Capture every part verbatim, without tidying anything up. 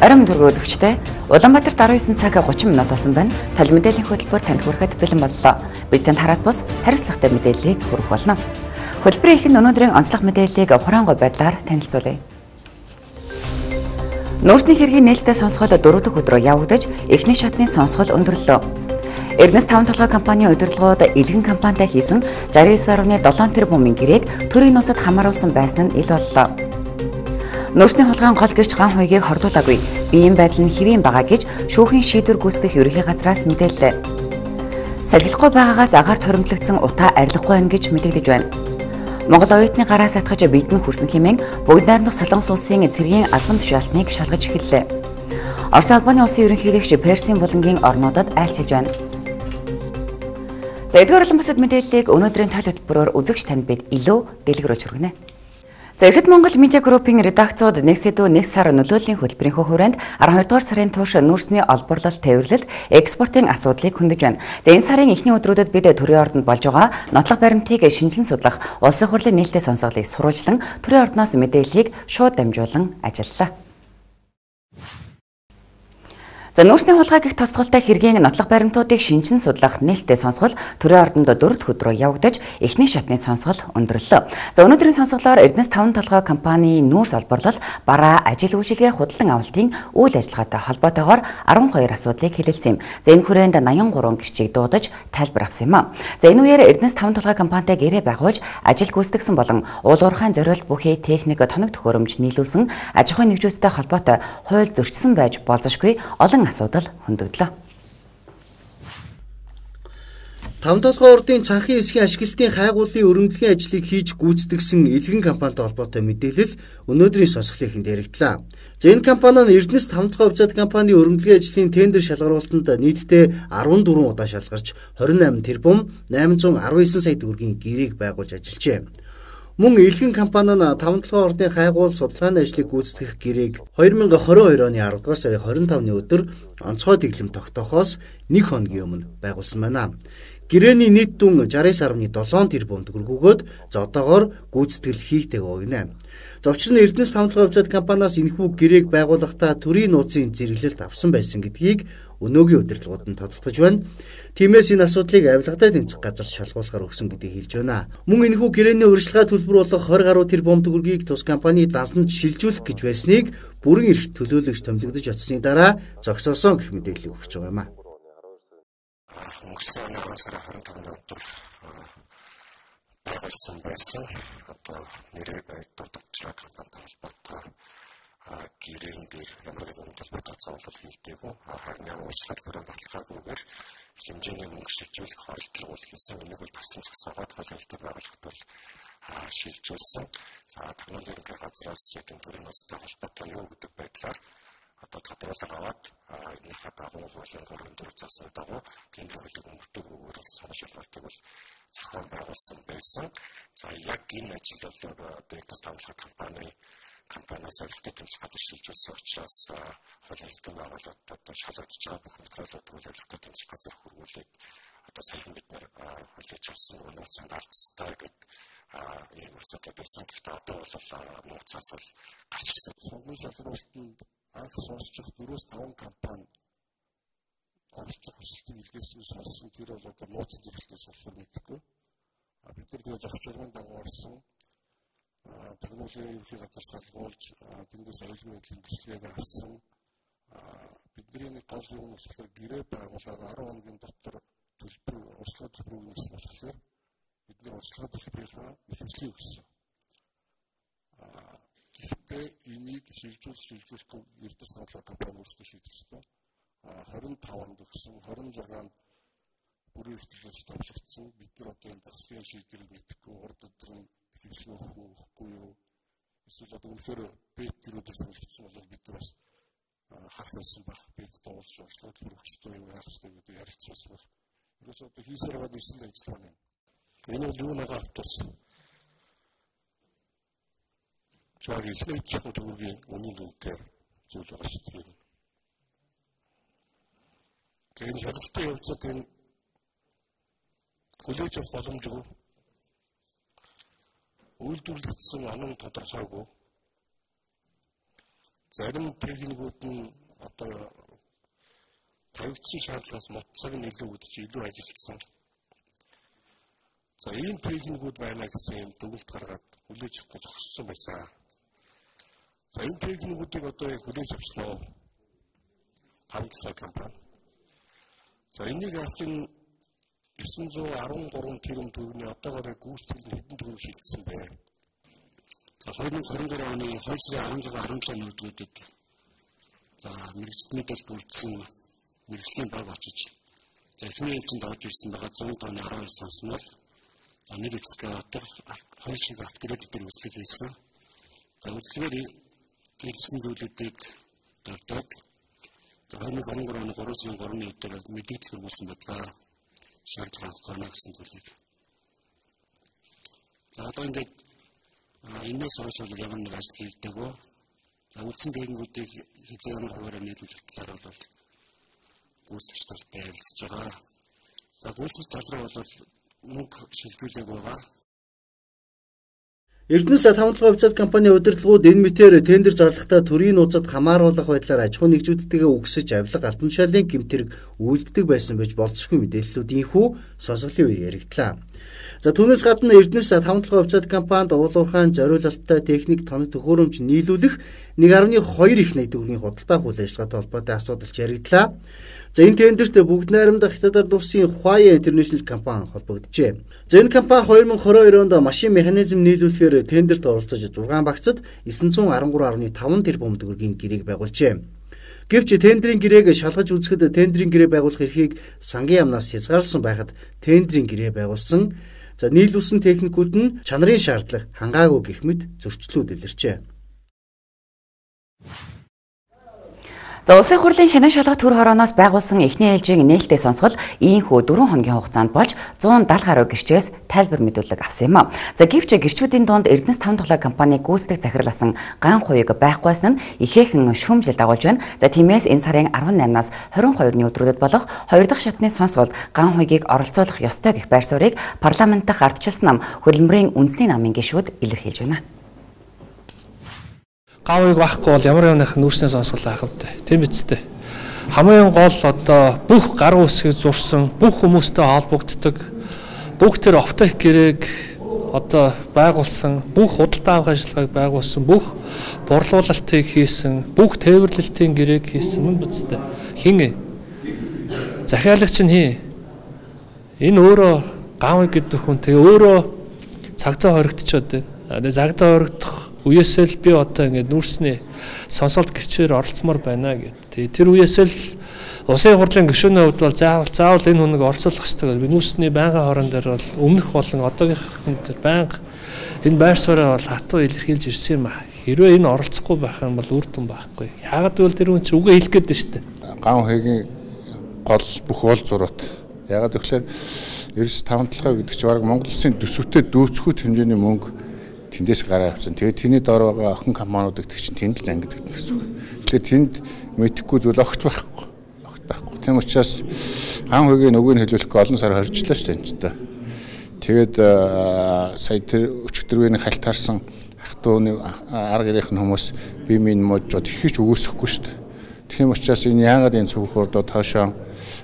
Орон төргөө үзэгчтэй Улаанбаатарт арван девять цаг thirty минут болсон байна. Тол мэдээллийн хөтөлбөр танд хүрэхэд бэлэн боллоо. Бид танд хараат бус хариуцлагатай мэдээллийг хүргэх болно. Хөтөлбөрийн ихэнх өнөөдрийн онцлог мэдээллийг хураангуй байдлаар танилцуулъя. Нүүрсний хэргийн нээлттэй сонсгол дөрөв дэх өдрөө явагдаж, эхний шатны сонсгол өндөрлөө. Эрдэнэс таван толгой компанийн удирдлагууд Илгэн компанитай хийсэн sixty-nine point seven тэрбумын гэрээг төрийн нууцад хамааруулсан байсан нь ил боллоо. Нүүрсний хулгайн гол гэрч ган хуйгийг хордуулаагүй. Биеийн байдал нь хэвийн байгаа гэж шүүхийн шийдвэр гүйцэтгэх ерөнхий газраас мэдээллээ. Салхилахгүй байгаагаас агаар торимтлагдсан утаа арилахгүй байна гэж мэдэгдэж байна. Монгол оюутны гараас атгаж биедэн хүрсэн хэмээн бүгд найрамдах Солонгос улсын цэргийн албан тушаалтныг шалгаж эхэллээ. Орос улбаны улсын ерөнхийлөгч Персийн булангийн орнуудад айлчилж байна. За эдгээр олон бусад мэдээллийг өнөөдрийн тал хөтөлбөрөөр үзэгч танд бид илүү дэлгэрүүлж хүргэнэ. За Эрхэт Монгол Медиа группийн редакцууд нэг сэдв нэг сар нөлөөллийн хөтөлбөрийн хүрээнд twelve дугаар сарын турш нүүрсний олборлолт тээвэрлэлт экспортын асуудлыг хөндөж байна. За энэ сарын эхний өдрүүдэд бид төрийн ордонд болж байгаа нотлох баримтыг шинжлэн судлах улсын хурлын нээлттэй сонсголыг сурвалжлан төрийн ордноос мэдээллийг шууд дамжуулан ажиллалаа. За нүүрсний хулгай гэх тосголтой хэргийн нотлох баримтуудыг шинжин судлах нээлттэй сонсгол төрийн ордонд дөрөв дэх өдрөө явагдаж эхний шатны сонсгол өндөрлөө. За өнөөдрийн сонсголоор Эрдэнэс таван толгой компанийн нүүрс олборлол бараа ажил үйлчилгээ худалдан авалтын үйл ажиллагаатай холбоотойгоор twelve асуудлыг хэлэлцсэн юм. За энэ хүрээнд eighty-three гэрчийг дуудаж тайлбар авсан юм а. За энэ үеэр Эрдэнэс таван толгой компанитай гэрээ байгуулж ажил гүйцэтгсэн болон уул уурхайн зориулт бүхий техник тоног төхөөрөмж нийлүүлсэн аж ахуйн нэгжүүдтэй холбоотой хууль зөрчсөн байж болзошгүй олон асуудал хөндөглөө. таван толгой урдын цанхын эсгийн ашиглалтын хайгуулын өргөдлийн ажлыг хийж гүйцэтгэсэн Илгэн компанитай холбоотой мэдээлэл өнөөдрийн сонсголын дээрэгдлээ. За энэ компани нь Эрдэнэс таван толгой хувьцаат компанийн өргөдлийн ажлын тендер шалгаруулалтанд нийтдээ fourteen удаа шалгарч twenty-eight тэрбум eight hundred nineteen сая төгрөгийн гэрээг байгуулж ажиллажээ. Мөн Илгэн компани нь таван толгой ордын хайгуул судалгааны ажлыг гүйцэтгэх гэрээг twenty twenty-two оны twelve дугаар сарын twenty-five-ны өдөр онцгой дэглэм тогтоохоос нэг хоногийн өмнө байгуулсан байна. Гэрээний нийт дүн sixty-nine point seven тэрбум төгрөгөөгөөд за одоогоор гүйцэтгэл хийгдэг өгнө. Зовчрын Эрдэнэс таван толгой хувьцаат компаниас энэхүү гэрээг байгуулахдаа төрийн нууцын зэрэглэлт авсан байсан гэдгийг өнөөгийн удирдлагууд нь тодтогч байна. Тиймээс энэ асуудлыг авилгатай тэмцэх газар шалгуулахаар өгсөн гэдгийг хэлж байна. Мөн энэхүү гэрээний урьдчилгаа төлбөр болох twenty гаруй тэрбум төгрөгийг тус компани дансанд шилжүүлэх гэж байсныг бүрэн эрхт төлөөлөгч томилогдож очсны дараа зогсоосон гэх мэдээлэл өгч байгаа юм а. Өнгөрсөн оны сарын twenty-five-ны өдөр байгуулсан байсан одоо нэрээр дуудагдчихаг компанитай холбоотой гэрээний дээр ямар нэгэн төлбөртэй цаавал хийгдээгүй харин ямар уучлал бүрэн баталгаагүйгээр хэмжээний мөнгө шилжүүлэх хоригдлого хийсэн. Энийг бол тасалсан зохицоод хөлөлтөд байгуулахад бол шилжүүлсэн. За технологийн ерөнхий газраас яг энэ төрлийн нууцтай холбоотой юу гэдэг байдлаар одоо тодорхойлол аваад энэхээ дагуу хуулийн гурван дөрөв засны дагуу тендер хуулийг өмөртөгөөр санал шалгалтыг бол зохион байгуулсан байсан. За яг энэ ажил бол одоо Эрдэнэс таван толгой компани компаниас олигтой тэмцэх газар шилжүүлсэн учраас хуулийн хэлтэн байгууллагад одоо шалгагдж байгаа бүх материалуудыг олигтой тэмцэх газар хөрвүүлээд одоо саяхан бид нэр хуулийг авсан нууцанд ардстай гэдэг ийм асуудал байсан. Гэхдээ одоо бол нууцаас бол гарч ирсэн. Сонгон шалгуулалтанд анх сонсчих four five компани оролцох хүсэлтийг илгээсэн сонссон тэр бол одоо нууц зэрэглэлээс болохоор мэдхгүй. Бид нар тэгээ зохиц урган дагуу орсон технологийн ерөнхий газар салгуулж тэндээс аюулгүй байдлын төслийг авсан. Бидний нэг гол юм болохоор гэрээ байгуулаад ten хоногийн дотор төлбөр урьдчилгаа төлбөрийг өгсөн болохоор бид нар урьдчилгаа төлбөрийнхаа нэхэмжлийг өгсөн. Гэхдээ энийг шилжүүл шилжүүлэхгүй Эрдэнэс таван толгой компани өөрсдөө шийдэх ёстой. twenty-five-нд өгсөн, twenty-six-нд бүрэн эрхтлэлж томлогдсон. Бид нар одоо энэ засгийн шийдвэрийг мэдэхгүй урд өдөр нь хэвлэх өгөхгүй юу? Эсвэл одоо үнэхээр бэт тэр өдөр томлогдсон бол бид нар бас харах байсан баг. Бэт дуулж урьдчилгаа төлбөр өгчтэй юу яах ёстой гэдэг ярилцсан баг. Ерөөс одоо хийсээр байгаа нэрсэн ажиллагаа юм. Энэ бол юу нэг автос. Чаг ихлэж төгөөгийн үнийн үнэтэй зүйл байгаа шүү дээ. Тэгээд хялбартай явцад энэ хүлээж авах боломжгүй. Үйлдвэрлэгдсэн онон тодорхойгүй. зарим техникүүд нь одоо тавигдсан шаардлагаас моцог нь илүү үдчих илүү ажилласан. За ийм техникүүд байна гэсэн юм дүгнэлт гаргаад хүлээж авах зогссон байсан. За энэ техникүүдийг одоо яг хүлээж авчлаа. Хамтлаг компани. За энийг авахын девсан зуун арван гурван тэрбум төгрөгийн одоогоор гүйцэтгэл нь хэдэн төгрөг шилжсэн бэ? За хоёр мың и дөрвөн оны хоёр сарын арван зургаан арван жилийн өдрүүдэд за мэрэгжлийн мэдээлэл бүрдсэн мэрэгжлийн баг очиж за эхний ээлжинд орж ирсэн байгаа зуун тонны арван хоёр сонснол за нэг экскаватор хоёр шиг автокредит дээр үзлэг хийсэн. За үзлэгээр хэлсэн зүйлүүдийг дурдаад за хоёр мың и гурван оны гурван сарын гуравны өдөр мэдээлэл хүргэсэн байдаг шаардлага авах гэсэн зүйлийг. За одоо ингээд энэс хойш ямар нэг ажил хийдэг вэ? За үлдсэн техникүүдийг хязгаар ямар хуваараар нийлүүлэх талаар бол гүйцэтгэгч талд ярилцж байгаа. За гүйцэтгэгч тал руу бол мөнгө шилжүүлэг байгаа. Эрдэнэс тавталгаа хувьцаат компани удирдлагууд энэ мэтээр тендер зарлагтаа төрийн нууцад хамааруулах байдлаар аж ахуй нэгжүүдтэйгээ үгсэж авилга алтан тушаалын гэмтэрэг үйлддэг байсан байж болцсохгүй мэдээллүүд ийхүү сонсголын үеэр яригдлаа. За түүнээс гадна Эрдэнэс тавталгаа хувьцаат компанид уулуурхаан зориулалттай техник тоног төхөөрөмж нийлүүлэх нэг наран хоёр их найд төгрөгийн худалдаа үйл ажиллагаатай холбоотой асуудалч яригдлаа. За энэ тендерт бүгд найрамдах Хятад улсын Huawei International компани холбогджээ. За энэ компани хоёр мың и двадцать хоёр онд машин механизм нийлүүлэхээр тендерт оролцож зургаан багцад девсан зуун арван гурван гаруй таван тэрбум төгрөгийн гэрээг байгуулжээ. Гэвч тендерийн гэрээг шалгаж үзэхэд тендерийн гэрээ байгуулах эрхийг сангийн яамнаас хязгаарласан байхад тендерийн гэрээ байгуулсан. За нийлүүлсэн техникүүд нь чанарын шаардлага хангаагүй гэх мэт зөрчлүүд илэрчээ. За улсын хурлын хянан шалгалт төр хорооноос байгуулсан эхний ээлжийн нээлттэй сонсгол ийхүү дөрвөн хоногийн хугацаанд болж зуун даатал гаруй гэрчээс тайлбар мэдүүлэг авсан юм а. За гэвч гэрчүүдийн дунд Эрдэнэс тавталгаа компани гүйцэтгэх захирласан ган хуйг байхгүйсэн нь ихээхэн шүүмжил дагуулж байна. За тиймээс энэ сарын арван наймнаас хорин хоёрны өдрүүдэд болох хоёр дахь шатны сонсголд ган хуйгийг оролцуулах ёстой гэх байр суурийг парламент дахь ардчилсан нам хөдөлмөрийн үндэсний намын гишүүд илэрхийлж байна. Гавыг байхгүй бол ямар ямных нүүрсний сонсгол авах вэ? Тийм биз дээ. Хамгийн гол одоо бүх гар үсгийг зурсан, бүх хүмүүстэй холбогддог, бүх тэр оптик гэрээг одоо байгуулсан, бүх худалдаа авах ажиллагааг байгуулсан, бүх борлуулалтыг хийсэн, бүх тээвэрлэлтийн гэрээг хийсэн юм биз дээ. Хин ээ? Захиалагч нь хин. Энэ өөрөө гавыг гэдэг хүн тэгээ өөрөө цагтаа хоригдчиход байна. Тэгээ цагтаа хоригдох үеэсэл би одоо ингээд нүүрсний сонсголт гэрчээр оролцмоор байна гэдэг. Тэр үеэсэл улсын хурлын гишүүний хувьд бол заавал заавал энэ хүнийг оролцуулах хэрэгтэй гэж би нүүрсний байнгын хорон дээр бол өмнөх болон одоогийнхэн дээр байнга энэ байр сууриа бол хатуу илэрхийлж ирсэн юм а. Хэрвээ энэ оролцохгүй байх юм бол үр дүн байхгүй. Яагаад гэвэл тэр хүн чинь үгээ хэлэх гээд шүү дээ. Ган хуйгийн гол бүх уул зурват. Яагаад гэвэл Эрдэнэс тавталгаа гэдэг чинь баг Монгол Улсын төсөвтэй дөөцхүйт хэмжээний мөнгө тэндээс гараа авсан. Тэгээд тэний дор байгаа охин компаниудыг тэг чинь тэнд л зангиддаг гэсэн үг. Тэгэхээр тэнд мэдхгүй зүйл огт байхгүй. Огт байхгүй. Тийм учраас ган хуйгийн нөгөөг нь хэлүүлэхгүй олон сар хоржлаа шүү дээ энэ ч та. Тэгээд сая тэр өчтөрвийн хальт харсан ах дууны арга гэрийнх нь хүмүүс би минь можод ихэж өгөөсөхгүй шүү дээ. Тийм учраас энэ яагаад энэ цүнх урдоо тоошоо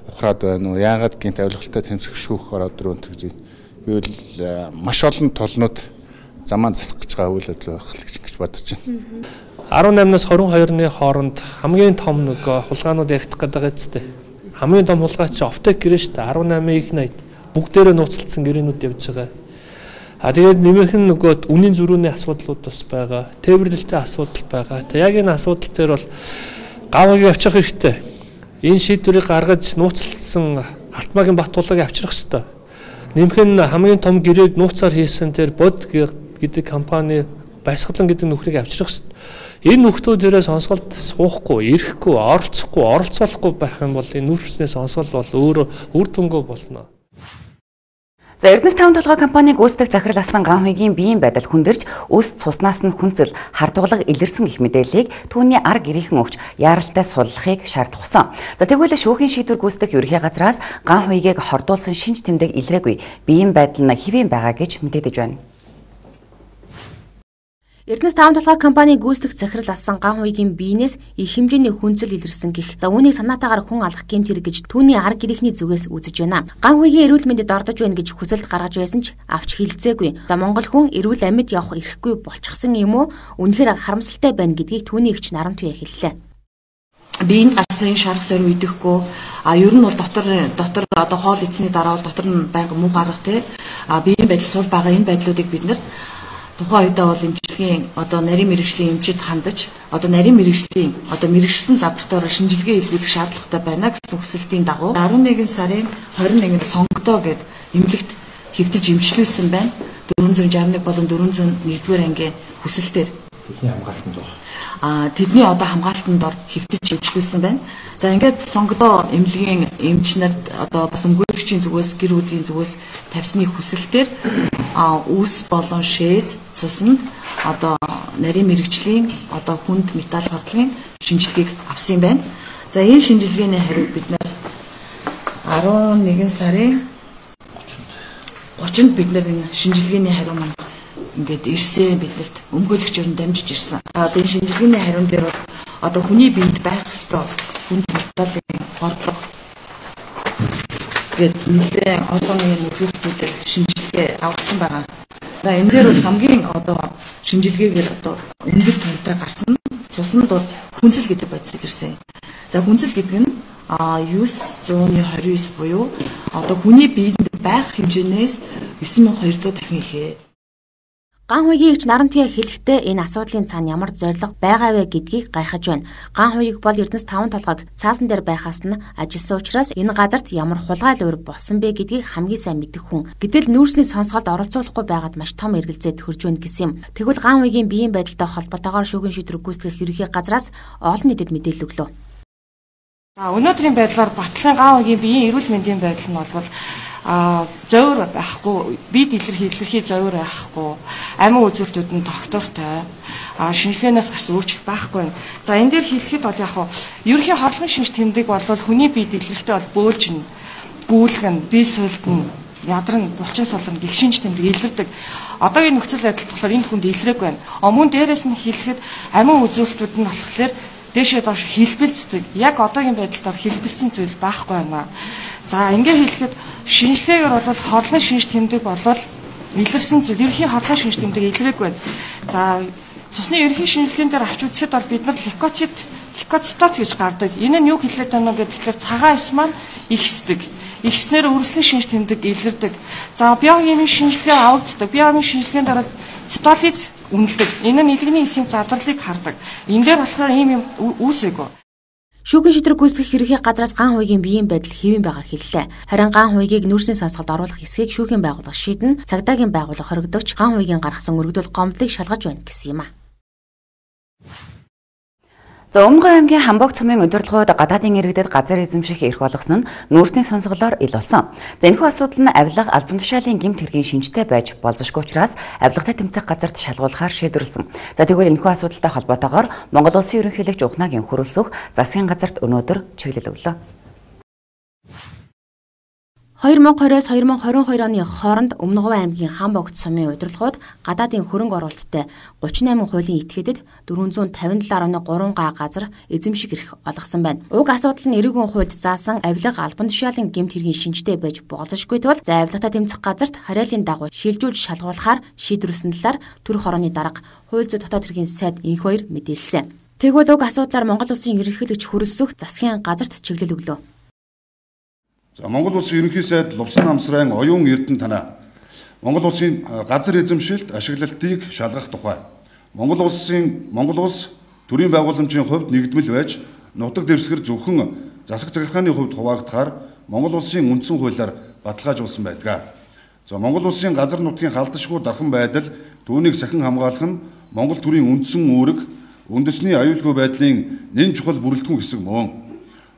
ухраад байна уу? Яагаад гинт авилгалтай тэмцэх шүүх ороод өрөөнд гэж би бол маш олон толнууд замаа засах гэж байгаа үйл ажиллагаа байх гэж бодож байна. арван наймнаас хорин хоёрны хооронд хамгийн том нэг хулгайнууд яригдах гэдэг үстэй. Хамгийн том хулгай чи оптик гэрээ шүү дээ. арван наймын их найд бүгдээрээ нууцлалсан гэрээнүүд явж байгаа. А тэгээд нэмэх нь нөгөө үнийн зөрүүний асуудлууд бас байгаа. Тээвэрлэлтийн асуудал байгаа. Тэг яг энэ асуудал дээр бол гавыг авчих хэрэгтэй. Энэ шийдвэрийг гаргаж нууцлсан Алтмаагийн Баттуулыг авчрах хэрэгтэй. Нэмэх нь хамгийн том гэрээг нууцаар хийсэн тэр бод гэдэг компани Баясгалан гэдэг нөхрийг авчрах хэрэгтэй. Энэ нөхдүүдээрээ сонсголт суухгүй, ирэхгүй, оролцохгүй, оролцуулахгүй байх юм бол энэ нүүрсний сонсгол бол өөрөө үр дүнгүй болно. За Эрдэнэс тавталгаа компаниг гүйцэтгэх захирласан ган хуйгийн биеийн байдал хүндэрч үс цуснаас нь хүнцэл хардуулга илэрсэн гэх мэдээллийг түүний арга гэрийнхэн өгч яаралтай суллахыг шаардсан. За тэгвэл шүүхийн шийдвэр гүйцэтгэх ерөнхий газраас ган хуйгийг хордуулсан шинж тэмдэг илрээгүй биеийн байдал нь хэвэн байгаа гэж мэдэгдэж байна. Эрдэнэс таван толгой компани гүйцэтгэх захирал асан Ган Хуйгийн биенээс их хэмжээний хүнцэл илэрсэн гэх. За үүнийг санаатаагаар хүн алах гэмт хэрэг гэж түүний арга гэрийнхний зүгээс үзэж байна. Ган Хуйгийн эрүүл мэндэд ордож байна гэж хүсэлт гаргаж байсан ч авч хилцээгүй. За Монгол хүн эрүүл амьд явах эрхгүй болчихсон юм уу? Үнэхээр харамсалтай байна гэдгийг түүний эгч Нарантуяа хэллээ. Биеийн гарсан шарах сорь үдэхгүй а ер нь бол дотор дотор одоо хоол идсний дараа бол дотор нь байнга муу гарах те а биеийн байдал сул байгаа энэ байдлуудыг бид нар тухайн үедээ бол эмчилгээний одоо нарийн мэрэгжлийн эмчид хандаж одоо нарийн мэрэгжлийн одоо мэрэгчсэн лабораториор шинжилгээ хийлгүүлэх шаардлагатай байна гэсэн хүсэлтийн дагуу арван нэгэн сарын хорин нэгнд сонгодоо гэд эмнэлэгт хэвтэж эмчлүүлсэн байна. дөрвөн зуун шарах нэг болон дөрвөн зуун нэгдүгээр ангийн хүсэлтээр тэдний хамгаалтанд дор а тэдний одоо хамгаалтанд дор хэвтэж эмчлүүлсэн байна. За ингээд сонгодоо эмнэлгийн эмч нарт одоо бас өмгөөлөгчийн зүгээс гэр бүлийн зүгээс тавьсны хүсэлтээр а үс болон шээс цуснд одоо нарийн мэрэгжлийн одоо хүнд металл хордлогын шинжилгээг авсан байна. За энэ шинжилгээний хариуд бид нар арван нэгэн сарын гочинд бид нар энэ шинжилгээний хариу маань ингээд ирсэн биднэрт өмгөөлөгчөөр нь дамжиж ирсэн. Одоо энэ шинжилгээний хариун дээр бол одоо хүний биед байх ёстой хүнд металлын хордлого гэд нэлээд олон юм үзүүлэлтүүдээр шинжилгээ авсан байгаа. За энэ дээр бол хамгийн одоо шинжилгээгээр одоо өндөр төвтэй гарсан цуснд бол хүнцэл гэдэг бодисыг ирсэн. За хүнцэл гэдэг нь а девять двадцать девять буюу одоо хүний биед байх хэмжээнээс девять мянга двухсот дахин ихээ. Ган Хуйгийн эгч Нарантуяа хэлэхдээ энэ асуудлын цаана ямар зорилго байгаа вэ гэдгийг гайхаж байна. Ган Хуйг бол Эрдэнэс таван толгойг цаасан дээр байхаас нь ажилсан учраас энэ газарт ямар хулгай луур болсон бэ гэдгийг хамгийн сайн мэдэх хүн. Гэтэл нүүрсний сонсголд оролцуулахгүй байгаад маш том эргэлзээ төрж байна гэсэн юм. Тэгвэл Ган Хуйгийн биеийн байдалтай холбоотойгоор шүүхийн шийдвэр гүйцэтгэх ерөнхий газраас олон нийтэд мэдээлэл өглөө. За өнөөдрийн байдлаар Батлын Ган Хуйгийн биеийн эрүүл мэндийн байдал нь бол а зөөр байхгүй, бие дэлгэрхий зөөр байхгүй, амин үзүүлэлтүүд нь доктортой, а шинжилгээнээс гарсан өөрчлөлт байхгүй. За энэ дээр хэлэхэд бол яг хуу ерөнхий хорлогын шинж тэмдэг бол хүний бие дэлгэрхтэй бол бөөлжин, гүүлгэн, бие суйлдан, ядран, булчин солон гих шинж тэмдэг илэрдэг. Одоогийн нөхцөл байдал болохоор энэ хүнд илрээг байна. Өмнө дээрээс нь хэлэхэд амин үзүүлэлтүүд нь болохоор дээшээ доош хэлбэлцдэг. Яг одоогийн байдалд хэлбэлцсэн зүйл байхгүй байна. За ингээ хэлэхэд шинжилгээгээр бол хорлогын шинж тэмдэг болвол илэрсэн зүйл ерөнхий хорлогын шинж тэмдэг илрээг байна. За цусны ерөнхий шинжилгээнд дээр авч үзэхэд бол бид нар лейкоцит, лейкоцитоз гэж гардаг. Энэ нь юу хэлээд байна вэ гэхээр цагаан эс маань ихсдэг. Ихснээр өрсөлдсөн шинж тэмдэг илэрдэг. За биохимийн шинжилгээ авагддаг. Биохимийн шинжилгээнд дараа цитолиз үнэлдэг. Энэ нь нэлгний эсийн задралыг хардаг. Энэ дээр болохоор ийм юм үүсээгөө. Шүүхийн шийдвэр гүйцэтгэх ерөнхий газраас Ган Хуйгийн биеийн байдал хэвэн байгааг хэллээ. Харин Ган Хуйгийг нүүрсний сонсголд оруулах эсэхийг шүүхийн байгууллага шийдэн цагдаагийн байгууллага хоригдогч Ган Хуйгийн гаргасан өргөдөл гомдлыг шалгаж байна гэсэн юм а. За Өмнөгов аймгийн Хамбог цумын удирдлагууд гадаадын иргэдэд газар эзэмших эрх олгосон нь нүүрсний сонсголоор ил болсон. За энэхүү асуудал нь авилга албан тушаалын гэмт хэргийн шинжтэй байж болзошгүй учраас авилгатай тэмцэх газарт шалгуулахаар шийдвэрлсэн. За тэгвэл энэхүү асуудалтай холбоотойгоор Монгол Улсын ерөнхийлөгч Ухнагийн хөрөлсөх засгийн газарт өнөөдөр чиглэл өглөө. хоёр мянга двадцать-аас хоёр мянга двадцать хоёр оны хооронд Өмнөгов аймгийн Хамбогт сумын удирдлагууд гадаадын хөрөнгө оруулалттай гучин восемь хуулийн этгээдэд дөрвөн зуун тавин долоо оноо гурван га газар эзэмших эрх олгосон байна. Уг асуудал нь эрүүгийн хуульд заасан авилга албан тушаалын гэмт хэргийн шинжтэй байж болзошгүй тул за авилгатай тэмцэх газарт хараалын дагуу шилжүүлж шалгуулахаар шийдвэрлсэн талаар төрөх хорооны дарга хууль зүйн дотоод хэргийн сайд инх хоёр мэдээлсэн. Тэгвэл уг асуудлаар Монгол Улсын ерөнхийлөгч хөрөлсөх засгийн газарт чиглэл өглөө. За Монгол Улсын ерөнхий сайд Лувсан намсрын оюун эрдэнэ танаа Монгол Улсын газар эзэмшилт ашиглалтыг шалгах тухай Монгол Улсын Монгол Улс төрийн байгууламжийн хувьд нэгдмэл байж нутаг дэвсгэр зөвхөн засаг захиргааны хувьд хуваагдахаар Монгол Улсын үндсэн хуулиар баталгаажуулсан байдаг. За Монгол Улсын газар нутгийн халдашгүй дархан байдал түүнийг сахин хамгаалах нь Монгол төрийн үндсэн үүрэг үндэсний аюулгүй байдлын нэн чухал бүрэлдэхүүн хэсэг мөн.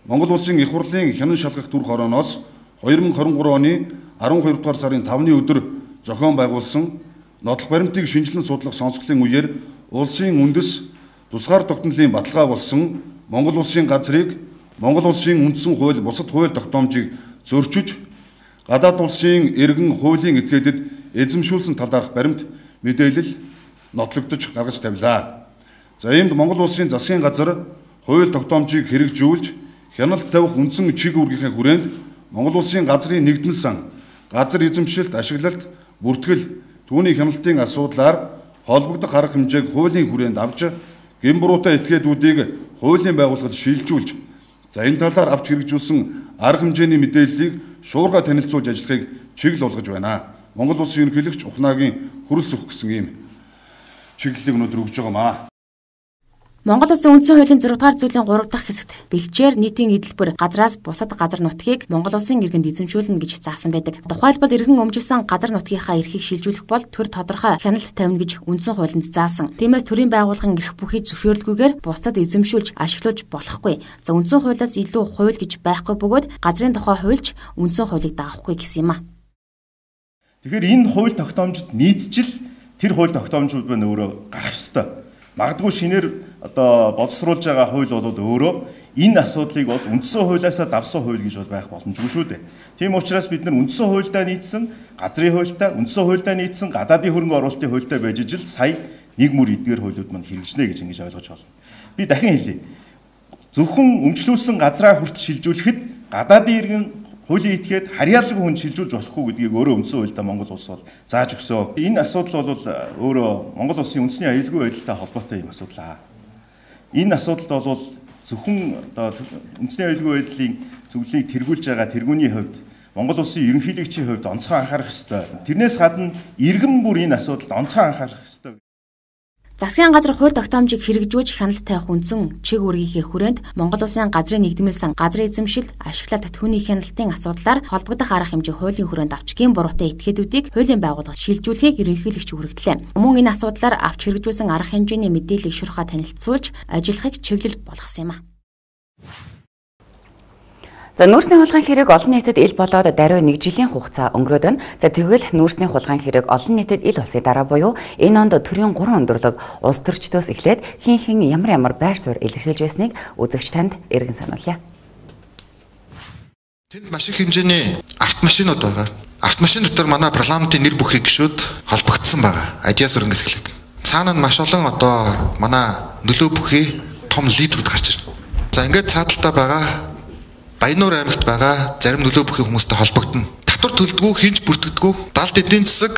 Монгол Улсын их хурлын хянан шалгах дүр хорооноос хоёр мянга двадцать trois оны арван хоёр дугаар сарын тавны өдөр зохион байгуулсан нотлох баримтыг шинжилэн судлах сонсголын үеэр улсын үндэс тусгаар тогтнолын баталгаа болсон Монгол Улсын газрыг Монгол Улсын үндсэн хууль бусад хууль тогтоомжийг зөрчиж гадаад улсын иргэн хуулийн этгээдэд эзэмшүүлсэн талаарх баримт мэдээлэл нотлогдож гаргаж тавилаа. За иймд Монгол улсын засгийн газар хууль тогтоомжийг хэрэгжүүлж хяналт тавих үндсэн чиг үүргийнхээ хүрээнд Монгол улсын газрын нэгдмэл сан, газар эзэмшилт, ашиглалт, бүртгэл, түүний хяналтын асуудлаар холбогдох арга хэмжээг хуулийн хүрээнд авч гэмбуруутай этгээдүүдийг хуулийн байгууллагад шилжүүлж, за энэ талаар авч хэрэгжүүлсэн арга хэмжээний мэдээллийг шуурга танилцуулж ажиллахыг чиглэл болгож байна. Монгол улсын ерөнхийлөгч Ухнагийн хүрэлц өгөх гэсэн ийм чиглэлийг өнөөдөр өгж байгаамаа. Монгол улсын үндсэн хуулийн зураг дахь зүйлийн гурав дахь хэсэгт бэлчээр нийтийн эдэлбэр газраас бусад газар нутгийг Монгол улсын иргэнд эзэмшүүлнэ гэж заасан байдаг. Тухайлбал иргэн өмжилсөн газар нутгийнхаа эрхийг шилжүүлэх бол төр тодорхой хяналт тавина гэж үндсэн хуулинд заасан. Тиймээс төрийн байгууллагын эрх бүхий зөвшөөрлгүйгээр бусдад эзэмшүүлж ашиглаж болохгүй. За үндсэн хуулиас илүү хууль гэж байхгүй бөгөөд газрын тухай хуульч үндсэн хуулийг дагахгүй гэсэн юм а. Тэгэхээр энэ хууль тогтоомжид нийцжил тэр хууль тогтоомжууд байна өөрөө гарах ёстой. Магадгүй шинээр одоо боловсруулж байгаа хууль бол өөрөө энэ асуудлыг бол үндсэн хуулиасаа давсан хууль гэж бол байх боломжгүй шүү дээ. Тийм учраас бид нар үндсэн хуульдаа нийцсэн газрын хуультай, үндсэн хуульдаа нийцсэн гадаадын хөрөнгө оруулалтын хуультай байж ижил сая нэг мөр эдгээр хуулиуд мань хэрэгжнэ гэж ингэж ойлгож байна. Би дахин хэлье. Зөвхөн өмчлүүлсэн газраа хүртэл шилжүүлэхэд гадаадын иргэн хуулийн этгээд харьяалаг хүн шилжүүлж болохгүй гэдгийг өөрөө үндсэн хуульдаа Монгол улс бол зааж өгсөн. Энэ асуудал бол өөрөө Монгол улсын үндэсний аюулгүй байдалтай холбоотой юм асуудал аа. Энэ асуудалд бол зөвхөн одоо үндэсний аюулгүй байдлын зөвлөлийг тэргүүлж байгаа тэргүүний хувьд Монгол улсын ерөнхийлөгчийн хувьд онцгой анхаарах ёстой. Тэрнээс гадна иргэн бүр энэ асуудалд онцгой анхаарах ёстой. Засгийн газар хууль тогтоомжийг хэрэгжүүлж хяналт тавих үндсэн чиг үүргийнхээ хүрээнд Монгол улсын газрын нэгдмэл сан, газрын эзэмшилт, ашиглалт түүний хяналтын асуудлаар холбогдох арга хэмжээ хуулийн хүрээнд авч гин буруутай этгээдүүдийг хуулийн байгууллагад шилжүүлэхийг ерөнхийлөгч хүргэлтлээ. Мөн энэ асуудлаар авч хэрэгжүүлсэн арга хэмжээний мэдээллийг шуурхаа танилцуулж ажиллахыг чиглэл болгосон юм а. За нүүрсний хулгайн хэрэг олон нийтэд ил болоод даруй нэг жилийн хугацаа өнгөрөөд байна. За тэгвэл нүүрсний хулгайн хэрэг олон нийтэд ил болсон дараа буюу энэ онд төрийн гурван өндөрлөг улс төрчдөөс эхлээд хин хин ямар ямар байр суурь илэрхийлж байсныг үзэгч танд эргэн сануулъя. Тэнд маш их хэмжээний автомашинууд байгаа. Автомашин дотор манай парламентын нэр бүхий гишүүд холбогдсон байгаа. Адиас өрнгөс эхлэх. Цаана нь маш олон одоо манай нөлөө бүхий том лидерүүд гарч ирнэ. За ингээд цааталтаа байгаа Баяннуур аймагт байгаа зарим нөлөө бүхий хүмүүстэй холбогдно. Татвар төлдгүү, хинж бүртгэдэггүй, далд эдийн засаг,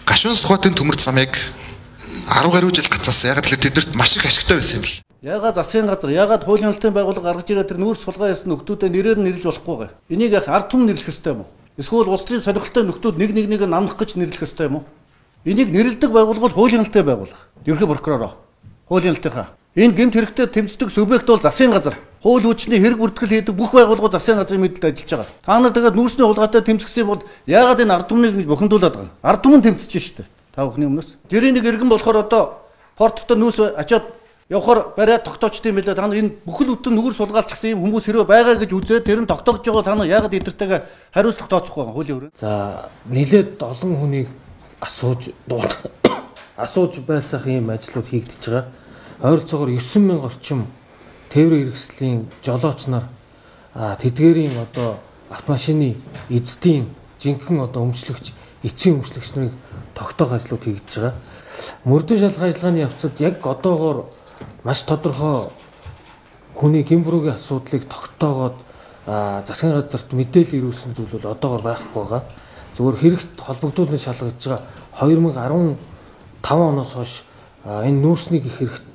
гашуун сухатын төмөрт замыг арав гаруй жил гацаасан. Яг л тэдэрт маш их ашигтай байсан юм л. Ягаад засгийн газар, ягаад хуулийн хяналтын байгууллага гаргаж ирээд тэр нүүрс сулгаа ясны нөхдүүдэд нэрээр нэрлэж болохгүй гэ. Энийг яг ард түмэн нэрлэх ёстой юм уу? Эсвэл улс төрийн сонирхолтой нөхдүүд нэг нэг нэг намнах гэж нэрлэх ёстой юм уу? Энийг нэрлэдэг байгууллага бол хуулийн хяналтын байгууллага. Ерхий прокуророо. Хуулийн хяналтынхаа. Энэ гэмт хэрэгтэй тэмцдэг субъект бол засгийн газар. Хууль хүчний хэрэг бүртгэл хийдэг бүх байгууллагууд засгийн газрын мэдэлд ажиллаж байгаа. Та нар тэгээд нүүрсний хулгайтай тэмцэх юм бол яагаад энэ ард түмнийг бухимдуулаад байгаа? Ард түмэн тэмцэж штэ. Та бүхний өмнөөс. Гэрийн нэг иргэн болохоор одоо порттой нүүс ачаад явахаар бариад тогтоочтой юм билээ. Та нар энэ бүхэл бүтэн нүгэр сулгаалчихсан юм хүмүүс хэрэг байгаа гэж үзээд тэр нь тогтоогч байгаа та нар яагаад эдэртэйгээ хариуцлах тооцохгүй байгаа хуулийн өрөө. За нилээд олон хүнийг асууж дуудах асууж байцаах юм ажлууд хийгдэж байгаа. Ойролцоогоор девять мянга орчим тээврийн хэрэгслийн жолооч нар тэдгээрийн одоо автомашины эздийн жинхэнэ одоо өмчлөгч, эцсийн өмчлөгч нарыг тогтоох ажлууд хийгдэж байгаа. Мөрдөн шалгах ажиллагааны явцад яг одоогоор маш тодорхой хүний гэмбрүүгийн асуудлыг тогтоогоод засгийн газарт мэдээлэл ирүүлсэн зүйл бол одоогоор байхгүй байгаа. Зөвхөн хэрэгт холбогдуулан шалгаж байгаа two thousand fifteen оноос хойш энэ нүүрсний хэрэгт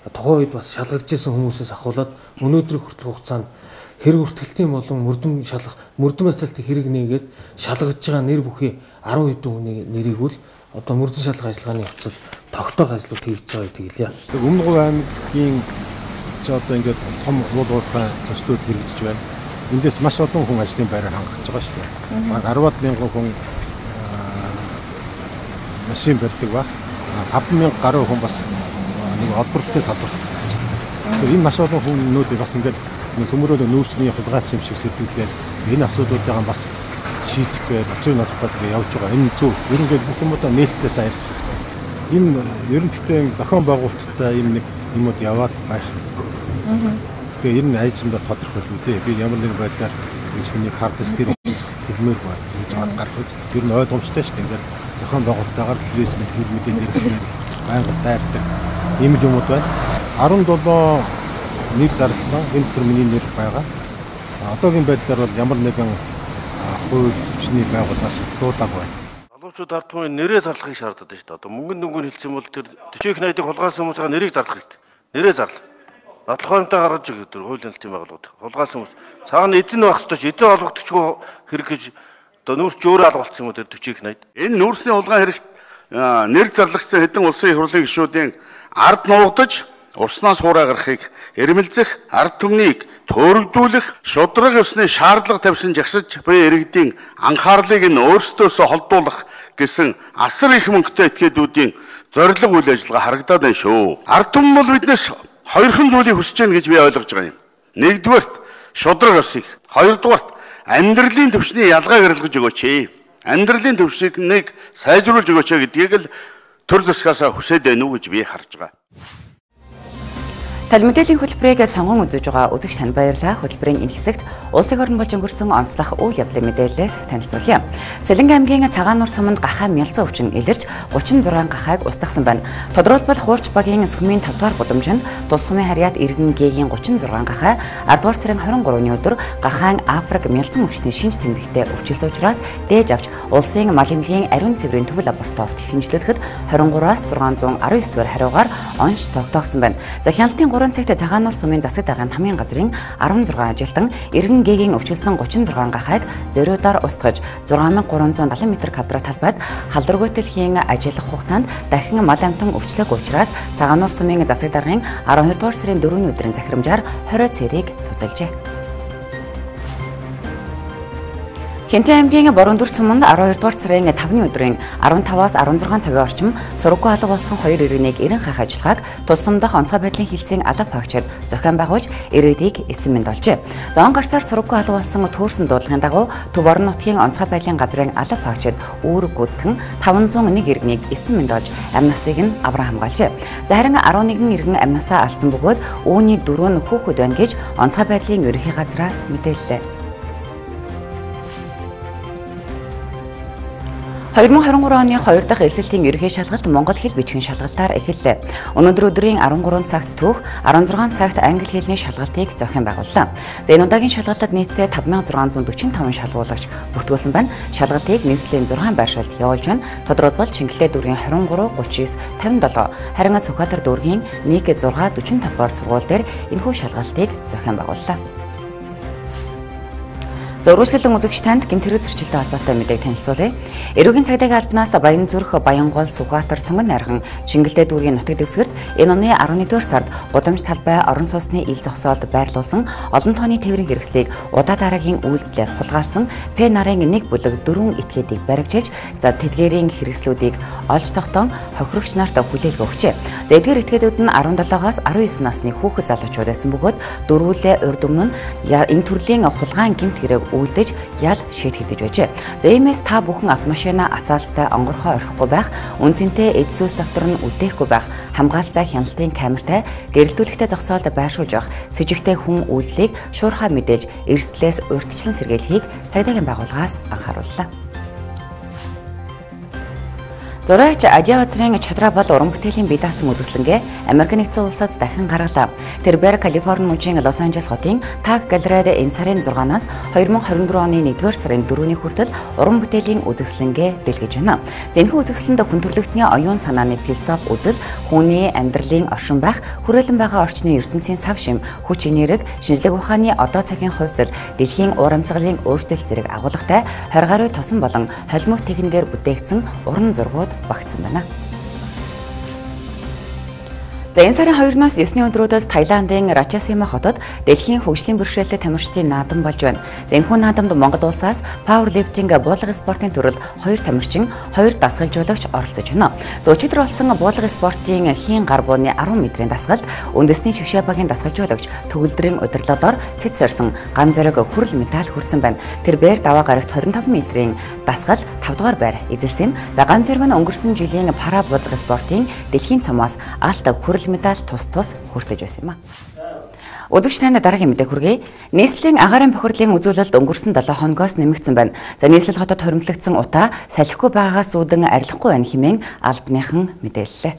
тухайн үед бас шалгаж ирсэн хүмүүсээс ахуулаад өнөөдрийн хүртэл хугацаанд хэрэг бүртгэлтийн болон мөрдөн шалгах мөрдөн байцаалтын хэрэг нээгээд шалгаж байгаа нэр бүхий ten хэдэн хүний нэрийг бол одоо мөрдөн шалгах ажиллагааны явцад тогтоох ажлууд хийж байгаа гэдэг хэлье. Өмнөг аймгийн ч одоо ингээд том уул уурхай төслүүд хэрэгжиж байна. Эндээс маш олон хүн ажлын байраар хангаж байгаа шүү дээ. Баг ten мянган хүн машин барьдаг ба five мянга гаруй хүн бас нэг олборлолтын салбарт ажилладаг. Тэгэхээр энэ маш олон хүмүүст бас ингээд цөмөрөө нүүрсний хулгайч юм шиг сэтгэлдээ энэ асуудлуудаа бас шийдэх гээд очиг нолох гэдэг явж байгаа. Энэ зөв. Ер нь бүх юмудаа нээлттэй сайрлцах. Энэ ер нь гэхдээ зохион байгуулалттай юм нэг юмуд яваад байх. Тэгээ ер нь айжмдаа тодорхой л үү. Би ямар нэгэн байдлаар гэж хүнийг хардаж тэр хэлмээр байна гэж бод гаргах. Ер нь ойлгомжтой шүү дээ. Ингээд зохион байгуулалттайгаар л хэлж мэдээлэл мэдээлэл байнга дайрдаг ийм юмуд байна. арван долоо нэр зарласан энэ төр миний нэр байгаа. Одоогийн байдлаар бол ямар нэгэн хууль хүчний байгууллагаас дуудаг байна. Залуучууд ард түмэн нэрээ зарлахыг шаарддаг шүү дээ. Одоо мөнгөн дүнгийн хэлсэн бол тэр төчөөх найдыг хулгайлсан хүмүүсийн нэрийг зарлах хэрэгтэй. Нэрээ зарлах. Нотлохоонтой гаргаж өгөх тэр хуулийн хэлтийн байгууллагууд. Хулгайлсан хүмүүс цаана эзэн байх ёстой ч эзэн олгогдчихгүй хэрэг гэж одоо нүүрч өөрөө алгуулсан юм уу тэр төчөөх найд. Энэ нүүрсний хулгай хэрэгт нэр зарлагдсан хэдэн улсын их хурлын гишүүдийн ард нуугдаж уснаас хуурай гарахыг эрмэлзэх, ард түмнийг төөрөгдүүлэх, шудраг ёсны шаардлага тавьсан жагсаж буй иргэдийн анхаарлыг нь өөрсдөөсөө холдуулах гэсэн асар их мөнгөтэй этгээдүүдийн зорилго үйл ажиллагаа харагдаад байна шүү. Ард түмэн бол биднээс хоёрхан зүйлийг хүсэж байна гэж би ойлгож байгаа юм. Нэгдүгээрт шудраг ёсыг, хоёрдугаарт амьдралын түвшний ялгааг арилгаж өгөөч. Амьдралын түвшнийг сайжруулж өгөөч гэдгийг л төр засгаасаа хүсэж байна уу гэж би харж байгаа. Тал мэдээллийн хөтөлбөрийг сонгон үзэж байгаа үзэгч танд баярлалаа. Хөтөлбөрийн энэ хэсэгт улсын орн болж өнгөрсөн онцлог үйл явдлын мэдээлэлээс танилцуулъя. Сэлэнг аймгийн Цагааннуур суманд гахаа Мялзан өвчин илэрч гучин зургаан гахааг устгасан байна. Тодорхойлбол Хуурч багийн сүмийн тавд дугаар гудамжинд тус сумын харьяат иргэн гээгийн гучин зургаан гахаа ардугаар сарын хорин гурваны өдөр гахаан Африк Мялзан өвчний шинж тэмдэгтээ өвчлсөн учраас дээж авч улсын мал эмнэлгийн ариун цэврийн төв лабораторид шинжилүүлэхэд хорин гураас зургаан зуун арван девять дугаар хариугаар онш тогтоогдсон байна. За хяналтын гурван цагт Цагааннуур сумын засаг даргын хамгийн газрын арван зургаан ажилтан иргэн гээгийн өвчлсөн гучин зургаан гахааг зориудаар устгаж зургаан мянга гурван зуун дагалан метр квадрат талбайд халдваргүйтлэхийн ажиллах хугацаанд дахин мал амтан өвчлөөг учраас Цагааннуур сумын засаг даргын арван хоёр дугаар сарын дөрөвний өдрийн захирамжаар хорио цэрийг цуцалжээ. Хэнтэй аймгийн Бороондүр суманд арван хоёр дугаар сарын тавны өдрийн арван таваас арван зургаан цагийн орчим сургаггүй алга болсон хоёр иргэнийг эрен хаах ажиллагааг тусам дах онцгой байдлын хилцээний алга багчид зохион байгуулж иргэдийг эсэм мэнд олжээ. Зоон гарсаар сургаггүй алга болсон төөрсөн дуудлагын дагуу Төв орон нутгийн онцгой байдлын газрын алга багчид үүрэг гүйцэтгэн таван зуун нэг иргэнийг эсэм мэнд олж амь насыг нь авраа хамгаалжээ. За харин арван нэгэн иргэн амь насаа алдсан бөгөөд үүний дөрөв нь хүүхэд байна гэж онцгой байдлын ерөнхий газраас мэдээллээ. хоёр мың хайрын гурван оны хоёр дахь эсэлтийн ерөнхий шалгалт Монгол хэл бичгийн шалгалтаар эхэллээ. Өнөөдөр өдрийн арван гурван цагт түүх, арван зургаан цагт англи хэлний шалгалтыг зохион байгууллаа. За энэ удаагийн шалгалтад нийтдээ таван мянган зургаан зуун дөрвөн таван шалгуулагч бүртгүүлсэн байна. Шалгалтыг нийслэлийн зургаан байршилд явуулж байна. Тодорхойлбол Чингэлээ дүүргийн хорин гурав, гучин девять, тавин долоо, харин Сүхбаатар дүүргийн нэг зургаан дөрвөн таван дугаар сургууль дээр энэхүү шалгалтыг зохион байгууллаа. Зөрүүлэн үзэгч танд гэмт хэрэг зөрчилтэй холбоотой мэдээг танилцуулъя. Эрүүгийн цагдаагийн албанаас Баянзүрх, Баянгол, Сүхбаатар, Сунган найрхан, Чингэлээ дүүргийн нутаг дэвсгэрт энэ оны арван нэгдүгээр сард гудамж талбай орон сууцны ил зогсоолд байрлуулсан олон тооны тээврийн хэрэгслийг удаа дараагийн үйлдэлээр хулгайлсан П нарын нэг бүлэг дөрвөн этгээдийг баривчилж, за тэдгээрийн хэрэгслүүдийг олж тогтоон хохирогч нарт хүлээлт өгчээ. За эдгээр этгээдүүд нь арван долоогоос арван девять насны хүүхэд залуучууд байсан бөгөөд дөрвөлээ урд өмнө энэ төрлийн хулгаан гэмт хэрэг үлдэж ял шийтгэж байжээ. За иймээс та бүхэн автомашина асаалстай онгорхоо орхихгүй байх, үнцэнтэй эд зүйс доктор нь үлдээхгүй байх, хамгаалалтай хяналтын камертай гэрэлтүүлэгтэй зогсоолд байршуулж явах, сэжигтэй хүн үйлдэлийг шуурхай мэдээж эрсдлээс урьдчилан сэргийлэхийг цагдаагийн байгууллагаас анхаарууллаа. Зураач Адиа газрын чадраа бол уран бүтээлийн бие даасан үзэсгэлэнгээ Америк нэгдсэн улсад дахин гаргалаа. Тэр Бэр Калифорни мужийн Лос Анжелес хотын Таг галерейд энэ сарын зургаанаас хоёр мың хайрын дөрвөн оны нэгдүгээр сарын дөрөвний хүртэл уран бүтээлийн үзэсгэлэнгээ дэлгэж байна. Зэнхүү үзэсгэлэнд хүн төрөлхтний оюун санааны философи үзэл, хүний амьдралын оршин байх, хүрээлэн байгаа орчны ертөнцийн сав шим, хүч энерги, шинжлэх ухааны одоо цагийн хувьсэл, дэлхийн уур амьсгалын өөрчлөлт зэрэг агуулгатай хорь гаруй тосон болон холимог техникээр бүтээгдсэн уран зургууд багтсан байна. За энэ сарын хоёрнаас есний өдрүүдэд Таиландын Рачасима хотод дэлхийн хөгжлийн бэрхшээлтэй тамирчдын наадам болж байна. За энэхүү наадамд Монгол улсаас пауэрлифтинг буулгын спортын төрөлд хоёр тамирчин, хоёр дасгалжуулагч оролцож байна. За өчигдөр болсон буулгын спортын хийн гар бууны арван метрийн дасгалд үндэсний шгшээ багийн дасгалжуулагч төгөлдрийн удирдлагоор цэц сорсон ган зориг хүрэл медаль хүртсэн байна. Тэр бээр даваа гарагт хорин таван метрийн дасгал тав дугаар байр эзэлсэн. За ган зориг нь өнгөрсөн жилийн пара буулгын спортын дэлхийн цомоос алт хүрэл медаль тус тус хүртэж байсан юм а. Үзэгч танд дараагийн мэдээ хүргэе. Нийслэлийн агаарын бохирлын үзүүлэлт өнгөрсөн долоо хоногоос нэмэгдсэн байна. За нийслэл хотод хоримтлагдсан утаа салхигүй байгаагаас үүдэн арилахгүй байна хэмээн албаныхан мэдээллээ.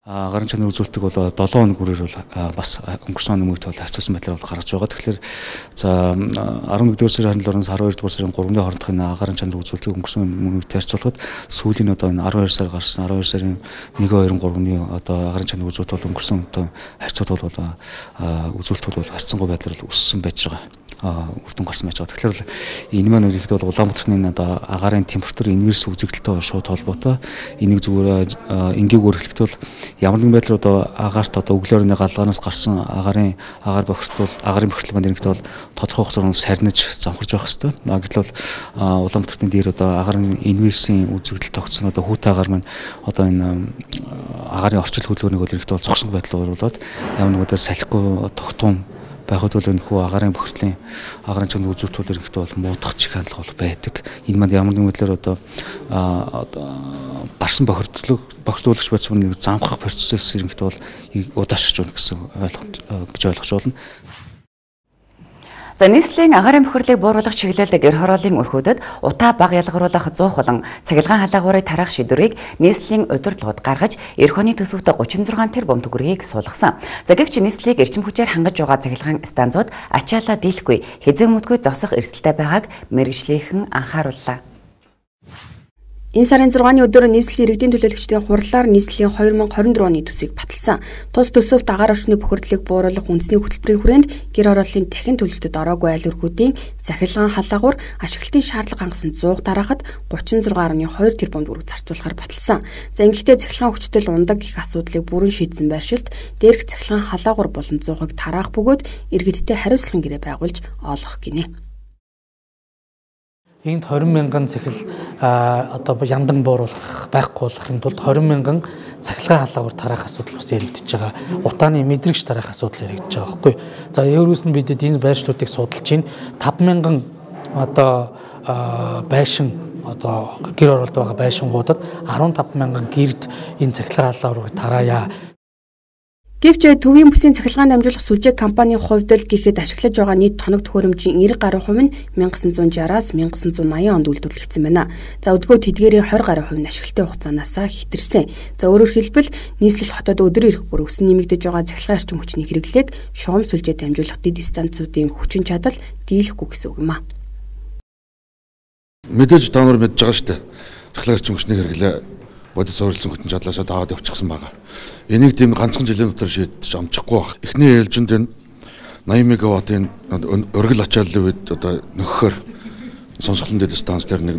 Гарын чанар үзүүлэлтийг бол долоон хоног бүрээр бол бас өнгөрсөн өмнөд бол харьцуулсан байдлаар бол гаргаж байгаа. Тэгэхээр за арван нэгдүгээр сарын харилцааны арван хоёрдугаар сарын гуравны хоорондохын гарын чанар үзүүлэлтийг өнгөрсөн өмнөд харьцуулахад сүүлийн одоо энэ арван хоёр сар гарсан арван хоёр сарын нэг хоёр гуравны одоо гарын чанар үзүүлэлт бол өнгөрсөн одоо харьцуулт бол үзүүлэлтүүд бол харьцангуй байдлаар өссөн байж байгаа. Үрдэн гарсан байж байгаа. Тэгэхээр энэ маань ихэд бол Улаанбаатарын одоо агарын температур инверс үзэгдэлтэй шууд холбоотой. Энийг зүгээр энгийгээр хэлэхдээ бол ямар нэгэн байдлаар одоо агаарт одоо өглөөрийн галгаанаас гарсан агарын агаар бохирдвол агарын бохирдол маань ихэд бол тодорхой хугацаанд сарниж замхарж байх хэвээр. Гэтэл бол Улаанбаатарын дээр одоо агарын инверсийн үзэгдэл тогтсон одоо хүүт агаар маань одоо энэ агарын орчил хөдөлгөөнийг бол ихэд бол зогсон байдлаар болоод ямар нэгэн байдлаар салхигүй тогтун байхад бол энэхүү агарын бохирдлын агарын чанар үзүүлэлт ирэхэд бол муудах чих хандлага бол байдаг. Энэ манд ямар нэгэн байдлаар одоо гарсан бохирдлог бохирдуулагч байсан нэг замхрах процесс ирэхэд бол удаашрч байна гэсэн ойлгомж гэж ойлгож байна. За нийслэлийн агарын бохирлыг бууруулах чиглэлд гэр хорооллын өрхөөдөд утаа баг ялгаруулах зуух болон цахилгаан халаагуурыг тараах шийдвэрийг нийслэлийн удирдлагууд гаргаж эх оны төсөвт гучин зургаан тэрбум төгрөгийг суулгасан. За гэвч нийслэлийг эрчим хүчээр хангаж байгаа цахилгаан станцууд ачаалаа дийлэхгүй хэзээ мөдгөө зогсох эрсдэлтэй байгааг мэргэжлийнхэн анхаарууллаа. Энэ сарын зургааны өдөр нийслэлийн иргэдийн төлөөлөгчдийн хурлаар нийслэлийн хоёр мянга хорин дөрвөн оны төсвийг баталсан. Тус төсөвт агаар орчны бохирдлыг бууруулах үндэсний хөтөлбөрийн хүрээнд гэр хорооллын дахин төлөвлөлтөд ороогүй айл өрхүүдийн захилгаан халаагуур ашиглалтын шаардлага хангасан зууг тараахад гучин зургаан гаруй хоёр тэрбум төгрөг зарцуулахаар баталсан. За ингэхдээ захилгаан хүчтэй ундаг гэх асуудлыг бүрэн шийдсэн байршилд дээрх захилгаан халаагуур болон зуугийг тараах бөгөөд иргэдтэй хариуцлагын гэрээ байгуулж олгох гинэ. Энд хорин мянган цахил одоо яндан бууруулах байхгүй болохын тулд хорин мянган цахилгаан халаагуур тараах асуудал бас яригдчихэж байгаа. Утааны мэдрэгч тараах асуудал яригдчихэж байгаа байхгүй. За өөрөөс нь бидэд энэ байршлуудыг судалж чинь таван мянган одоо байшин одоо гэр оролт байгаа байшингуудад арван таван мянган гэрд энэ цахилгаан халаагуурыг тараая. Гэвч төвийн бүсийн цахилгаан дамжуулах сүлжээ компанийн хувьд л гэхэд ашиглаж байгаа нийт тоног төхөөрөмжийн нэрэг гаруй хувь нь 천ин зуун шестидесятаас 천ин зуун восемьдесят онд үйлдвэрлэгдсэн байна. За өдгөө тэдгээрийн двадцать гаруй хувь нь ашиглалтын хугацаанаас хэтэрсэн. За өөрөөр хэлбэл нийслэл хотод өдөр ирэх бүр өсөн нэмэгдэж байгаа цахилгаан эрчим хүчний хэрэглээг шугам сүлжээ дамжуулах дэд станцуудын хүчин чадал дийлэхгүй гэсэн үг юм а. Мэдээж та нар мэдж байгаа шүү дээ. Цахилгаан эрчим хүчний хэрэглээ бодит суурилсан хүчин чадлаасаа таагаад явчихсан байгаа. Энийг тийм ганцхан жилийн дотор шийдэж амжихгүй байх. Эхний ээлжинд энэ восемь мегаваттын өргөл ачааллын үед одоо нөхөхөөр сонсголон дэд станц дээр нэг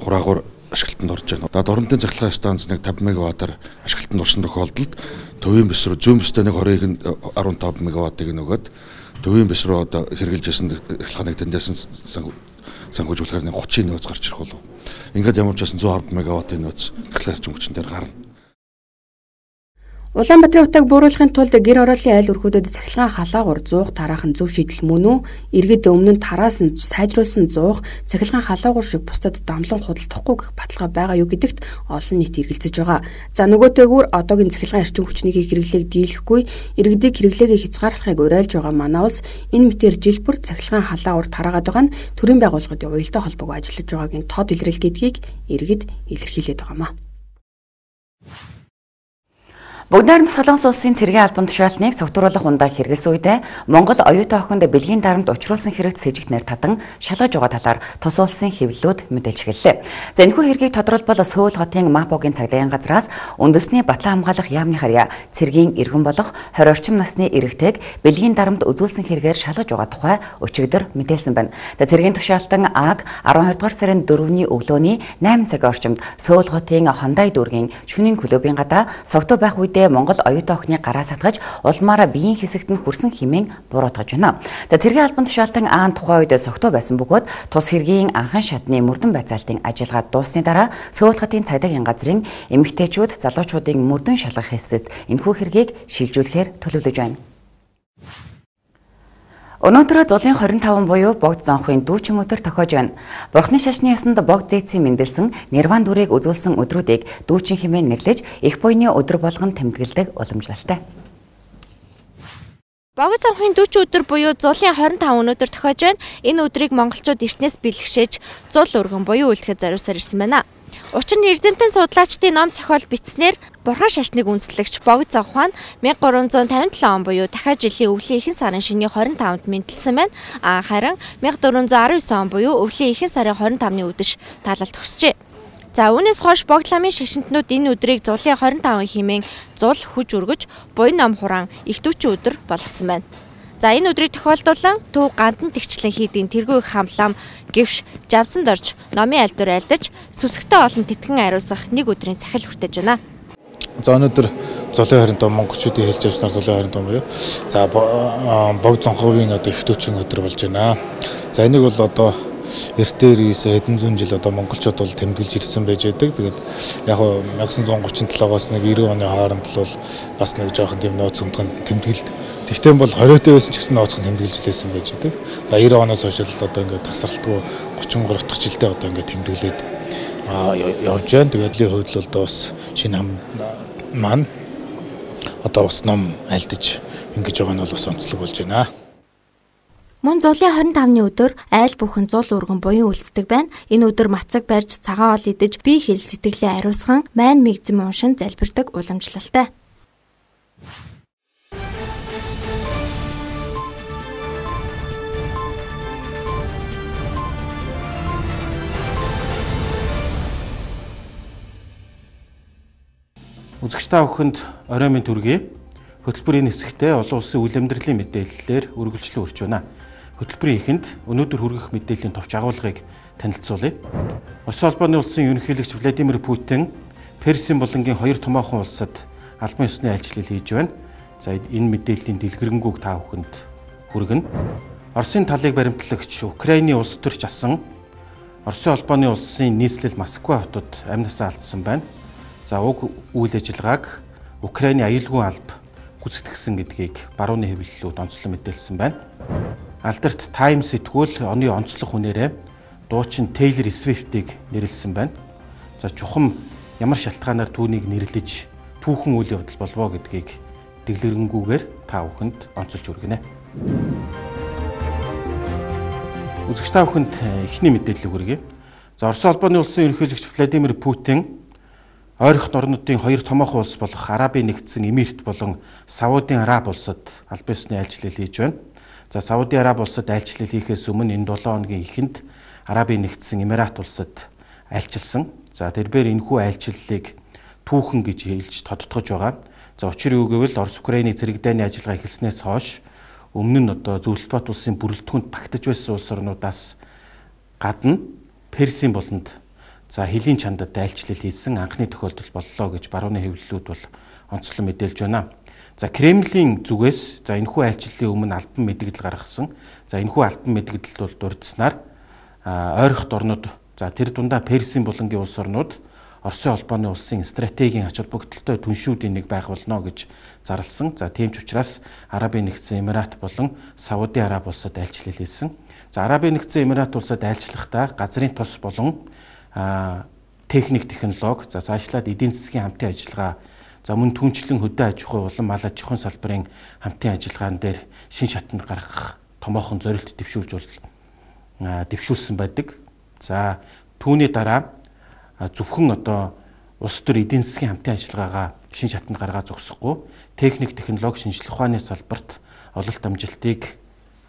хураагуур ашиглалтанд орж байна. Одоо дорнодын цахилгаан станц нэг таван мегаваттаар ашиглалтанд орсон тохиолдолд төвийн бис рүү зүүн бистэй нэг двадцать арван таван мегаваттыг нөгөөд төвийн бис рүү одоо хэрэгжилж байсан цахилгааныг тэндээс сангуулжуулахаар нэг тридцать нөөц гарч ирэх болов. Ингээд ямар ч байсан one hundred мегаваттын нөөц цахилгаан эрчим хүчин дээр гарна. Улаанбаатарын утааг бууруулахын тулд гэр хорооллын айл өрхүүдэд цахилгаан халаагуур зуух тараах нь зөв шийдэл мөн үү? Иргэд өмнө нь тараасан сайжруулсан зуух цахилгаан халаагуур шиг бусдад дамлан худалдахгүй гэх баталгаа байгаа юу гэдэгт олон нийт эргэлзэж байгаа. За нөгөөтэйгүр одоогийн цахилгаан эрчим хүчний хэрэглээг дийлэхгүй иргэдийг хэрэглээгээ хязгаарлахыг уриалж байгаа манай улс энэ мэтээр жил бүр цахилгаан халаагуур тараагаад байгаа нь төрийн байгууллагын уялдаа холбоог ажиллаж байгаагийн тод илрэл гэдгийг иргэд илэрхийлээд байгаамаа. Бүгд найрамд Солонгос улсын цэргийн албан тушаалтныг согтууруулах ундаа хэрэгэлсэн үедээ Монгол оюутан охинд бэлгийн дарамт учруулсан хэрэгт сэжигтнэр татан шалгаж байгаа талаар тус улсын хэвлэлүүд мэдээлж эхэллээ. За энэхүү хэргийг тодорхойлбол Сөүл хотын Мапогийн цагдаагийн газраас үндэсний батлан хамгаалах яамны харьяа цэргийн иргэн болох тwenty орчим насны эрэгтэйг бэлгийн дарамт үзүүлсэн хэрэгээр шалгаж байгаа тухай өчигдөр мэдээлсэн байна. За цэргийн тушаалтан Аг twelve дугаар сарын дөрөвний өглөөний eight цагийн орчимд Сөүл хотын Хондай дүүргийн шөнийн клубын гадаа согтуу байх үед Монгол оюутан охины гараа сатгаж улмаараа биеийн хэсэгт нь хүрсэн хэмээн буруутгаж байна. За цэргийн албан тушаалтан Аан тухайн үед согтуу байсан бөгөөд тус хэргийн анхан шатны мөрдөн байцаалтын ажиллагаа дуусны дараа Сөүл хотын цагдаагийн газрын эмэгтэйчүүд залуучуудын мөрдөн шалгах хэсэгт энэхүү хэргийг шилжүүлэхээр төлөвлөж байна. Өнөөдөр зулын twenty-five буюу богд зонхын дүүчин өдөр тохиож байна. Бурхны шашны ёсонд богд зээцийн мэндэлсэн Нирван дүрийг үзүүлсэн өдрүүдийг дүүчин хэмээн нэрлэж их буйны өдөр болгон тэмдэглэдэг уламжлалтай. Богд зонхын дүүчин өдөр буюу зулын twenty-five өнөөдөр тохиож байна. Энэ өдрийг монголчууд эртнээс бэлгшээж зул өргөн буюу үлдэхэд зориулсаар ирсэн байна. Учир нь эрдэмтэн судлаачдын ном зохиол бичснээр Бурхан шашныг үндэслэгч Богд Зовхон мянга гурван зуун тавин долоо он буюу дахиад жилийн өвлийн ихэнх сарын шөнийн хорин таванд мэндэлсэн байна. А харин мянга дөрвөн зуун арван девь он буюу өвлийн ихэнх сарын хорин тавны үдэш таалал төгсжээ. За үүнээс хойш Богд ламын шашинтнууд энэ өдрийг зулын хорин таван хэмээн зул хүж өргөж буян ном хураан их дүүчин өдөр болгосон байна. За энэ өдрийг тохиолдуулан төв гандан тэгчлэн хийдийн тэргүй их хамлам гэвш жавцанд орж номын альдуур альдаж сүсгтэй олон тэтгэн ариусгах нэг өдрийн цахил хүртэж байна. За өнөөдөр зулын хорин том монголчуудын хэлж явснаар зулын хорин том буюу за Богд Зонховын одоо их дүүчин өдөр болж байна. За энийг бол одоо эртээр ирсэн хэдэн зуун жил одоо монголчууд бол тэмдэглэж ирсэн байж байдаг. Тэгээд яг нь мянга девь жүз гучин долоогоос нэг девяносто оны хооронд бол бас нэг жоохон тийм нөөц өмдгөн тэмдэглэлд. Тэгтээ бол хориотой байсан ч гэсэн нөөцгөн тэмдэглэж лээсэн байж байдаг. За девяносто оноос хойш л одоо ингээд тасралтгүй гучин гурав дахь жилдээ одоо ингээд тэмдэглээд явж байна. Тэгээд л хувьд л одоо бас шинэ хам маань одоо бас ном альдаж ингэж байгаа нь бол бас онцлог болж байна. Мөн зулын хорин тавны өдөр айл бүхэн зул өргөн буян үлддэг байна. Энэ өдөр мацаг барьж цагаан ол идэж бие хэл сэтгэлээ ариусган майн мэгзэм уншин залбирдаг уламжлалтай. Үзэгч та бүхэнд орой минь төргий. Хөтөлбөрийн хэсэгтээ олон улсын үйл амьдралын мэдээллээр үргэлжлэн үрж байна. Хөтөлбөрийн эхэнд өнөөдөр хүргэх мэдээллийн товч агуулгыг танилцуулъя. Орос улбаны улсын ерөнхийлөгч Владимир Путин Персийн булангийн хоёр томоохон улсад албан ёсны айлчлал хийж байна. За энэ мэдээллийн дэлгэрэнгүй та бүхэнд хүргэнэ. Оросын талыг баримтлагч Украиний улс төрч асан Оросын улбаны улсын нийслэл Москва хотод амнасаа алдсан байна. За уг үйл ажиллагааг Украиний аюулгүй алба гүйцэтгсэн гэдгийг барууны хэвлэлүүд онцлон мэдээлсэн байна. Алдарт Times сэтгүүл оны онцлог хүнээрээ дуучин Taylor Swift-ийг нэрлсэн байна. За чухам ямар шалтгаанаар түүнийг нэрлэж түүхэн үйл явдал болвоо гэдгийг дэглэрэнгүйгээр та бүхэнд онцолж хүргэнэ. Үзэгч та бүхэнд эхний мэдээлэл хүргэе. За Орос улбаны улсын ерөнхийлөгч Владимир Путин ойрхон орнуудын хоёр томоохон улс болох Арабын нэгдсэн Эмирт болон Саудын Араб улсад албан ёсны айлчлал хийж байна. За Саудын Араб улсад айлчлал хийхээс өмнө энэ долоо хоногийн эхэнд Арабын нэгдсэн Эмират улсад айлчилсан. За тэрээр энэхүү айлчлалыг түүхэн гэж хэлж тодтогож байгаа. За учир юу гэвэл Орос Украиний зэрэг дайны ажиллагаа эхэлснээс хойш өмнө нь одоо зөвлөлтбат улсын бүрэлдэхүүнд багтаж байсан улс орнуудаас гадна Персийн буланд за хэлийн чандад айлчлал хийсэн анхны тохиолдол боллоо гэж барууны хэвлэлүүд бол онцлон мэдээлж байна. За Кремлийн зүгээс за энэхүү айлчлалын өмнө албан мэдэгдэл гаргасан. За энэхүү албан мэдэгдэлд бол дурдсанаар ойрхот орнууд за тэр дундаа Персийн булангийн улс орнууд Оросын улбаны улсын стратегийн ач холбогдолтой түншүүдийн нэг байх болно гэж зарласан. За тийм ч учраас Арабын нэгдсэн Эмират болон Саудын Араб улсад айлчлал хийсэн. За Арабын нэгдсэн Эмират улсад айлчлахдаа газрын тос болон А техник технологи за цаашлаад эдийн засгийн хамтын ажиллагаа за мөн түнчлэн хөдөө аж ахуй болон мал аж ахуйн салбарын хамтын ажиллагаан дээр шин шатанд гаргах томоохон зорилт дэвшүүлж бол дэвшүүлсэн байдаг. За түүний дараа зөвхөн одоо улс төр эдийн засгийн хамтын ажиллагаагаа шин шатанд гаргаа зогсохгүй техник технологи шинжилгээ ухааны салбарт ололт амжилтыг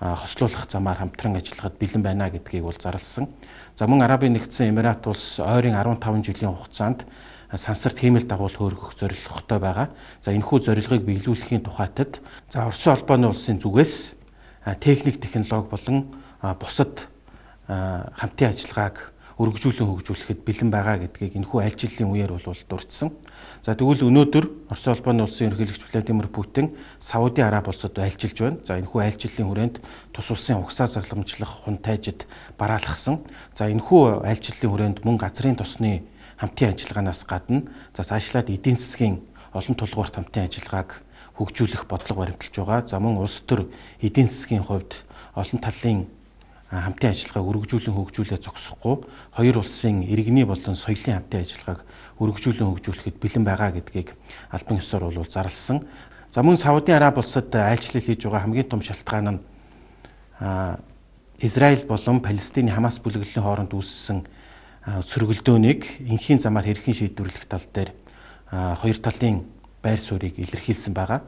хослуулах замаар хамтран ажиллахад бэлэн байна гэдгийг бол зарласан. За мөн Арабын нэгдсэн Эмират улс ойрын арван таван жилийн хугацаанд сансарт хиймэл дагуул хөөргөх зорилготой байгаа. За энэхүү зорилгыг биелүүлэхийн тухайтад за Оросын улбаны улсын зүгээс техник технологи болон бусад хамтын ажиллагааг өргөжүүлэн хөгжүүлэхэд бэлэн байгаа гэдгийг энэхүү айлчлалын үеэр бол дурдсан. За тэгвэл өнөөдөр Оросын улбаны улсын ерөнхийлөгч Владимир Путин Саудын Араб улсад айлчилж байна. За энэхүү айлчлалын хүрээнд тус улсын угсаа загламжлах хүн тайжид бараалгасан. За энэхүү айлчлалын хүрээнд мөн газрын тосны хамтын ажиллагаанаас гадна за цаашлаад эдийн засгийн олон тулгуурт хамтын ажиллагааг хөгжүүлэх бодлого баримталж байгаа. За мөн улс төр эдийн засгийн хувьд олон талын хамтын ажиллагааг өргөжүүлэн хөгжүүлээ зогсохгүй хоёр улсын иргэний болон соёлын хамтын ажиллагааг өргөжүүлэн хөгжүүлэхэд бэлэн байгаа гэдгийг албан ёсоор бол зарласан. За мөн Саудын Араб улсад айлчлал хийж байгаа хамгийн том шалтгаан нь Израиль болон Палестины Хамас бүлэглэлийн хооронд үүссэн сөргөлдөөнийг энхийн замаар хэрхэн шийдвэрлэх тал дээр хоёр талын байр суурийг илэрхийлсэн байгаа.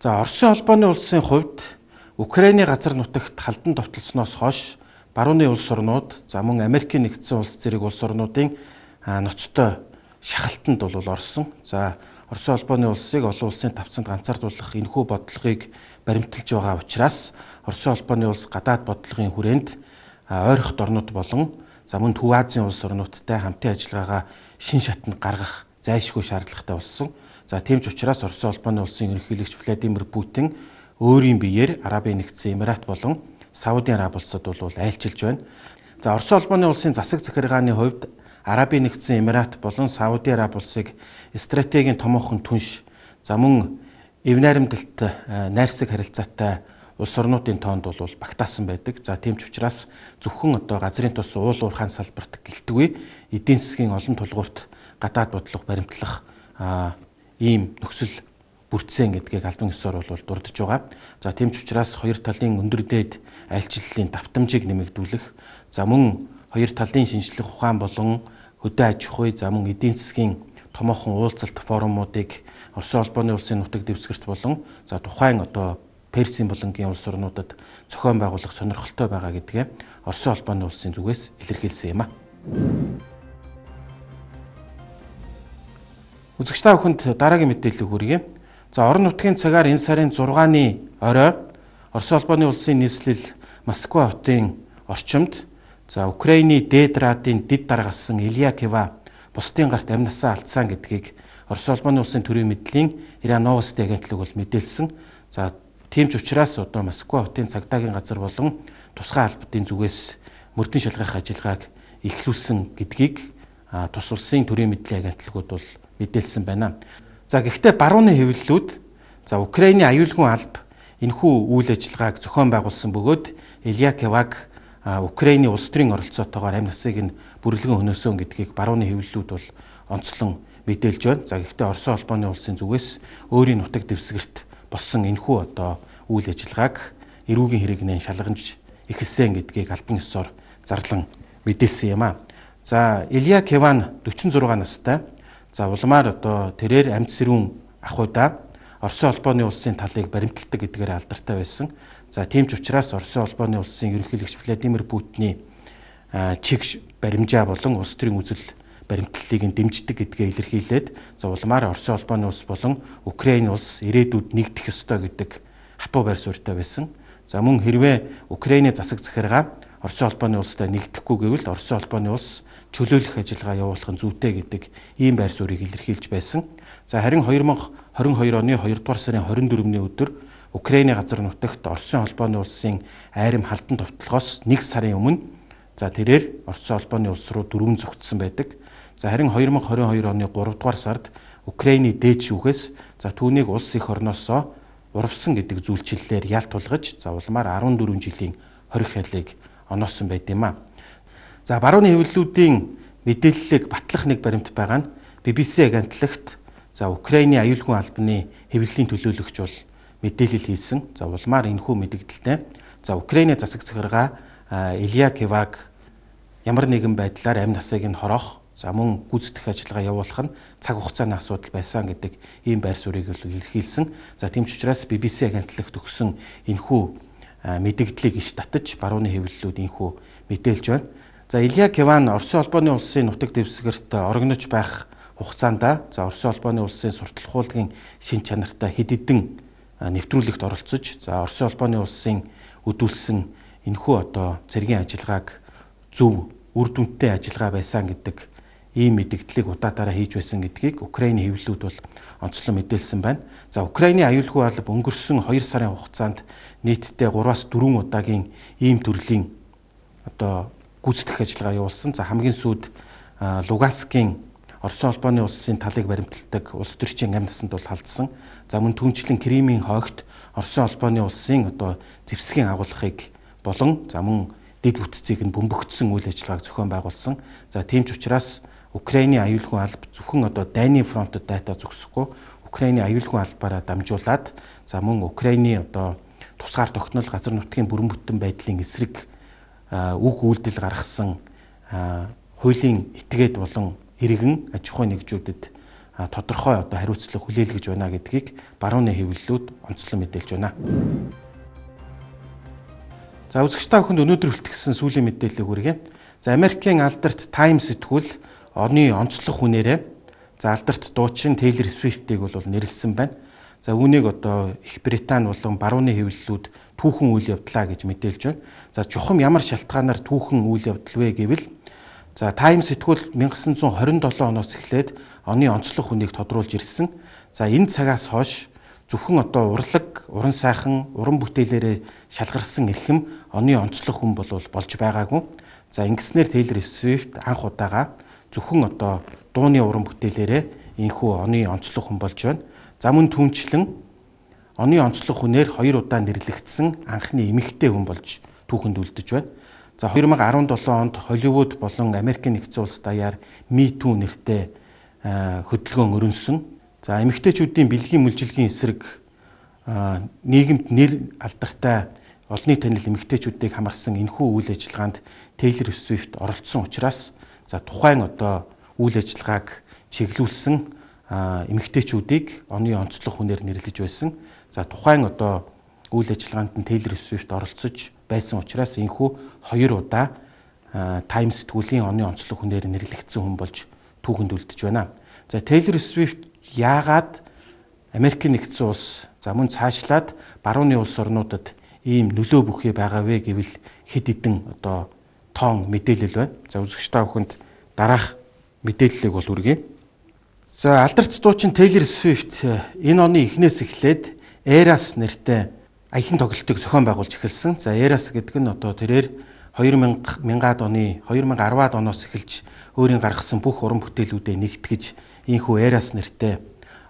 За Оросын холбооны улсын хувьд Украиний газар нутагт халдан довтлосноос хойш барууны улс орнууд за мөн Америкийн нэгдсэн улс зэрэг улс орнуудын ноцтой шахалтанд бол орсон. За Оросын холбооны улсыг олон улсын тавцанд ганцаардуулах энэхүү бодлогыг баримталж байгаа учраас Оросын холбооны улс гадаад бодлогын хүрээнд ойрхот орнууд болон за мөн Төв Азийн улс орнуудтай хамтын ажиллагаагаа шин шатанд гаргах зайлшгүй шаардлагатай болсон. За тийм ч учраас Оросын холбооны улсын ерөнхийлөгч Владимир Путин өөрийн биеэр Арабын нэгдсэн Эмират болон Сауди Араб улсад бол айлчилж байна. За Оросын холбооны улсын засаг захиргааны хувьд Арабын нэгдсэн Эмират болон Сауди Араб улсыг стратегийн томоохон түнш за мөн эв найрамдалт найрсаг харилцаатай улс орнуудын тоонд бол багтаасан байдаг. За тийм ч учраас зөвхөн одоо газрын тус уул уурхайн салбарт гэлтгүй эдийн засгийн олон тулгуурт гадаад бодлого баримтлах ийм нөхцөл бүрдсэн гэдгийг албан ёсоор бол дурдж байгаа. За тийм ч учраас хоёр талын өндөр дээд айлчлалын давтамжийг нэмэгдүүлэх, за мөн хоёр талын шинжлэх ухаан болон хөдөө аж ахуй, за мөн эдийн засгийн томоохон уулзалт форумуудыг Оросын холбооны улсын нутаг дэвсгэрт болон за тухайн одоо Персийн болонгийн улс орнуудад зохион байгуулах сонирхолтой байгаа гэдгээ Оросын холбооны улсын зүгээс илэрхийлсэн юм а. Үзэгч та бүхэнд дараагийн мэдээлэл хүргэе. За орон нутгийн цагаар энэ сарын зургааны орой Оросын холбооны улсын нийслэл Москва хотын орчимд за Украины дээд радийн дид даргасан Илья Кива бусдын гарт амь насаа алдсан гэдгийг Оросын холбооны улсын төрийн мэдлийн РИА Новости агентлаг бол мэдээлсэн. За тийм ч учраас одоо Москва хотын цагдаагийн газар болон тусгай албадын зүгээс мөрдөн шалгах ажиллагааг эхлүүлсэн гэдгийг тус улсын төрийн мэдлийн агентлагууд бол мэдээлсэн байна. За гэхдээ барууны хэвлэлүүд за Украины аюулгүй алба энэхүү үйл ажиллагааг зохион байгуулсан бөгөөд Илья Киваг Украины улс төрийн оролцоотойгоор амь насыг нь бүрэлдэн хөнөөсөн гэдгийг барууны хэвлэлүүд бол онцлон мэдээлж байна. За гэхдээ Оросын холбооны улсын зүгээс өөрийн нутаг дэвсгэрт болсон энэхүү одоо үйл ажиллагааг эрүүгийн хэрэгнээ шалгамж эхэлсэн гэдгийг албан ёсоор зарлан мэдээлсэн юм а. За Илья Киван дөрвөн зургаан настай. За улмаар одоо тэрээр амьд сэрүүн ахуйда Оросын холбооны улсын талыг баримталдаг гэдгээр алдартай байсан. За тийм ч учраас Оросын холбооны улсын ерөнхийлөгч Владимир Путиний чиг баримжаа болон улс төрийн үзэл баримтлалыг нь дэмждэг гэдгээ илэрхийлээд за улмаар Оросын холбооны улс болон Украины улс ирээдүйд нэгдэх ёстой гэдэг хатуу байр суурьтай байсан. За мөн хэрвээ Украины засаг захиргаа Оросын холбооны улстай нэгдэхгүй гэвэл Оросын холбооны улс чөлөөлөх ажиллагаа явуулах нь зүйтэй гэдэг ийм байр суурийг илэрхийлж байсан. За харин две тысячи двадцать two оны хоёрдугаар сарын двадцать четвёртний өдөр Украины газар нутагт Оросын холбооны улсын айрам халдан товтлогоос нэг сарын өмнө за тэрээр Оросын холбооны улс руу дөрвөн зогтсон байдаг. За харин две тысячи двадцать two оны гуравдугаар сард Украины дээд шүүхээс за түүнийг улс их орноосоо урвсан гэдэг зүйлчлэлээр ялт тулгаж за улмаар fourteen жилийн хорих хялыг оноосон байт юм а. За барууны хэвлэлүүдийн мэдээллийг батлах нэг баримт байгаа нь би би си агентлагт за Украины аюулгүй албаны хэвлэлийн төлөөлөгч бол мэдээлэл хийсэн. За улмаар энэхүү мэдээлэлтэй за Украины засаг захиргаа Илья Киваг ямар нэгэн байдлаар амь насыг нь хороох за мөн гүйцэтгэх ажиллагаа явуулах нь цаг хугацааны асуудал байсан гэдэг ийм байр суурийг илэрхийлсэн. За тийм ч учраас би би си агентлагт өгсөн энэхүү мэдээллийг иш татаж барууны хэвлэлүүд энэхүү мэдээлж байна. За Илья Киван Оросын холбооны улсын нутаг дэвсгэрт орогнож байх хугацаанд за Оросын холбооны улсын сурталх хуулийн шин чанартай хэд хэдэн нэвтрүүлэгт оролцож за Оросын холбооны улсын өдүүлсэн энэхүү одоо цэргийн ажиллагааг зөв үр дүнтэй ажиллагаа байсан гэдэг ийм мэдээллийг удаатаараа хийж байсан гэдгийг Украины хэвлэлүүд бол онцлон мэдээлсэн байна. За Украины аюулгүй алба өнгөрсөн хоёр сарын хугацаанд нийтдээ гураас дөрвөн удаагийн ийм төрлийн одоо гүйцэтгэх ажиллагаа явуулсан. За хамгийн сүүлд Луганскийн Оросын холбооны улсын талыг баримталдаг улс төрчийн амь насанд бол халдсан. За мөн түнчлэн Кримийн хойгт Оросын холбооны улсын одоо зэвсгийн агуулгыг болон за мөн дэд бүтцийг нь бөмбөгдсөн үйл ажиллагааг зохион байгуулсан. За тийм ч учраас Украины аюулгүй алба зөвхөн одоо дайны фронтод дайта зогсохгүй Украины аюулгүй албаараа дамжуулаад за мөн Украины одоо тусгаар тогтнол газар нутгийн бүрэн бүтэн байдлын эсрэг үг үйлдэл гаргасан хуулийн этгээд болон иргэн аж ахуйн нэгжүүдэд тодорхой одоо хариуцлага хүлээлгэж байна гэдгийг барууны хэвлэлүүд онцлон мэдээлж байна. За үзэгч та бүхэнд өнөөдөр үлтгэсэн сүүлийн мэдээллийг хүргье. За Америкийн алдарт Time сэтгүүл оны онцлог хүнээрээ за алдарт дуучин Taylor Swift-ийг бол нэрлсэн байна. За үүнийг одоо Их Британи болон барууны хэвлэлүүд түүхэн үйл явдлаа гэж мэдээлж байна. За чухам ямар шалтгаанаар түүхэн үйл явдал вэ гэвэл за Time сэтгүүл 천구 хорин долоо оноос эхлээд оны онцлог хүнийг тодруулж ирсэн. За энэ цагаас хойш зөвхөн одоо урлаг, уран сайхан, уран бүтээлээрээ шалгарсан эрхэм оны онцлог хүн бол болж байгаагүй. За ингэснээр Taylor Swift анх удаага зөвхөн одоо дууны уран бүтээлээрээ энэхүү оны онцлог хүн болж байна. За мөн түнчлэн оны онцлог хүнээр хоёр удаа нэрлэгдсэн анхны эмэгтэй хүн болж түүхэнд үлдэж байна. За две тысячи десятый онд Холливуд болон Америкийн нэгдсэн улс даяар Me Too нэртэй хөдөлгөөн өрнөсөн. За эмэгтэйчүүдийн бэлгийн мүлжилгийн эсрэг нийгэмд нэр алдартай олонний танил эмэгтэйчүүдийг хамарсан энэхүү үйл ажиллагаанд Taylor Swift оролцсон учраас за тухайн одоо үйл ажиллагааг чиглүүлсэн эмэгтэйчүүдийг оны онцлог хүнээр нэрлэж байсан. За тухайн одоо үйл ажиллагаанд нь Taylor Swift оролцож байсан учраас энэхүү хоёр удаа Time сэтгүүлийн оны онцлог хүнээр нэрлэгдсэн хүн болж түүхэнд үлдэж байна. За Taylor Swift яагаад Америкийн нэгдсэн улс за мөн цаашлаад барууны улс орнуудад ийм нөлөө бүхий байгаа вэ гэвэл хэд хэдэн одоо тоон мэдээлэл байна. За үзэгч та бүхэнд дараах мэдээллийг бол үргэе. За алдарт дуучин Taylor Swift энэ оны эхнээс эхлээд Eras нэртэй аялан тоглолтыг зохион байгуулж эхэлсэн. За Eras гэдэг нь одоо тэрээр две тысячи оны две тысячи десятый оноос эхэлж өөрийн гаргасан бүх уран бүтээлүүдэд нэгтгэж ийхүү Eras нэртэй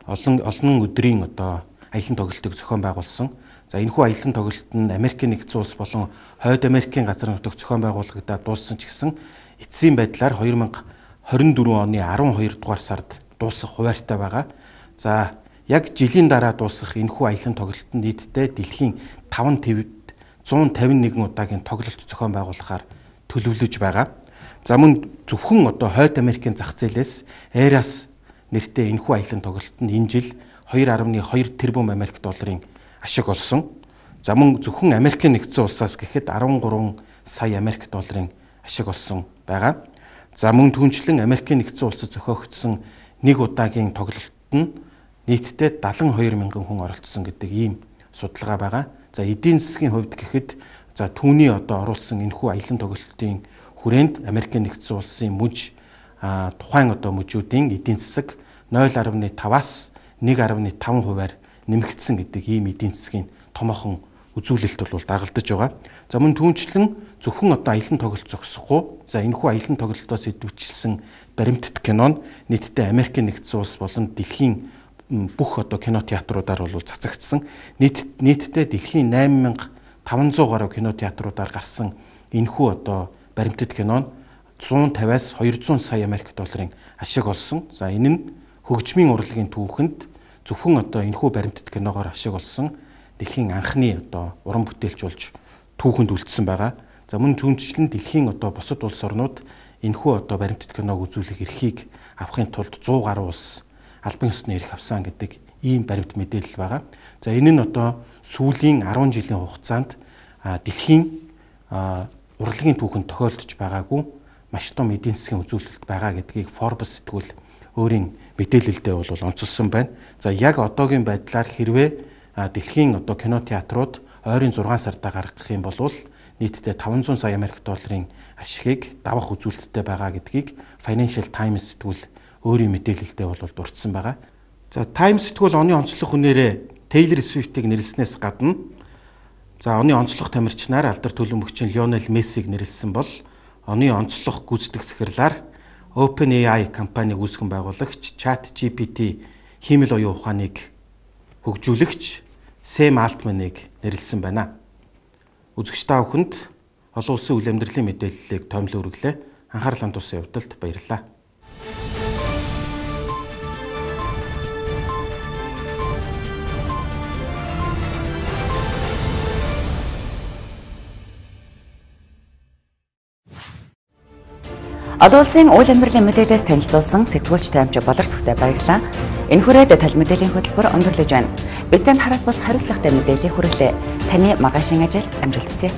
олон олон өдрийн одоо аялан тоглолтыг зохион байгуулсан. За энэхүү аялан тоглолт нь Америкийн нэгдсэн улс болон Хойд Америкийн газар нутагт зохион байгуулагдаад дууссан ч гэсэн эцсийн байдлаар две тысячи двадцать дөрвөн оны12 дугаар сард дуусах хуваарьтай байгаа. За яг жилийн дараа дуусах энэхүү аялан тоглолтод нийтдээ дэлхийн таван твд one fifty-one удаагийн тоглолт зохион байгуулахаар төлөвлөж байгаа. За мөн зөвхөн одоо Хойд Америкийн зах зээлээс Eras нэртэй энэхүү аялан тоглолт нь энэ жил two point two тэрбум Америк долларын ашиг олсон. За мөн зөвхөн Америкийн нэгдсэн улсаас гэхэд thirteen сая Америк долларын ашиг олсон байгаа. За мөн түнчлэн Америкийн нэгдсэн улсад зохиогдсон нэг удаагийн тоглолтод нь нийтдээ seventy-two мянган хүн оролцсон гэдэг ийм судалгаа байгаа. За эдийн засгийн хувьд гэхэд за түүний одоо оруулсан энэхүү аялан тоглолтын хүрээнд Америкийн нэгдсэн улсын мужи тухайн одоо мужуудын эдийн засаг zero point five-аас one point five хувиар нэмэгдсэн гэдэг ийм эдийн засгийн томоохон үзүүлэлт бол дагалдаж байгаа. За мөн түүнчлэн зөвхөн одоо аялан тоглолт зогсохгүй. За энэхүү аялан тоглолтоос идэвхжүүлсэн баримтат кино нь нийтдээ Америкийн нэгдсэн улс болон дэлхийн бүх одоо кинотеатруудаар бол цацагдсан. Нийт нийтдээ дэлхийн eight thousand five hundred гаруй кинотеатруудаар гарсан энэхүү одоо баримтат кино нь one fifty-аас two hundred сая Америк долларын ашиг олсон. За энэ нь хөгжмийн урлагийн түүхэнд зөвхөн одоо энэхүү баримтат киногоор ашиг олсон дэлхийн анхны одоо уран бүтээлч болж түүхэнд үлдсэн байгаа. За мөн түнчлэн дэлхийн одоо бусад улс орнууд энэхүү одоо баримтат киног үзүүлэх эрхийг авахын тулд one hundred гаруй улс албан ёсны эрх авсан гэдэг ийм баримт мэдээлэл байгаа. За энэ нь одоо сүүлийн ten жилийн хугацаанд дэлхийн урлагийн түүхэнд тохиолдож байгаагүй маш том эдийн засгийн үзүүлэлт байгаа гэдгийг Forbes сэтгүүл өөрийн мэдээлэлдээ бол онцолсон байна. За яг одоогийн байдлаар хэрвээ дэлхийн одоо кинотеатрууд ойрын six сардаа гаргах юм бол нийтдээ five hundred сая Америк долларын ашигыг давах үзүүлэлттэй байгаа гэдгийг Financial Times сэтгүүл өөрийн мэдээлэлдээ бол дурдсан байгаа. За Times сэтгүүл оны онцлог хүнээрээ Taylor Swift-ийг нэрлснээс гадна за оны онцлог тамирчнаар алдар төлөвлөгчийн Lionel Messi-г нэрлсэн бол оны онцлог гүйцэтгэх захирлаар OpenAI компаниг үүсгэн байгуулагч ChatGPT хиймэл оюун ухааныг хөгжүүлэгч Sam Altman-ыг нэрлсэн байна. Үзэгч та бүхэнд олон улсын үйл амьдралын мэдээллийг томилон үргэлээ. Анхаарал хандуулсан явдалд баярлалаа. Олон улсын үйл амьдралын мэдээлэлээс танилцуулсан сэтгүүлч таймч Болор Сүхтэй баярлалаа. Энэ хүрээд тал мэдээллийн хөтөлбөр өндөрлөж байна. Бидэнтэй харах бус хариуцлагатай мэдээлэл хүргэлээ. Таны маргаашийн ажил амжилт хүсье.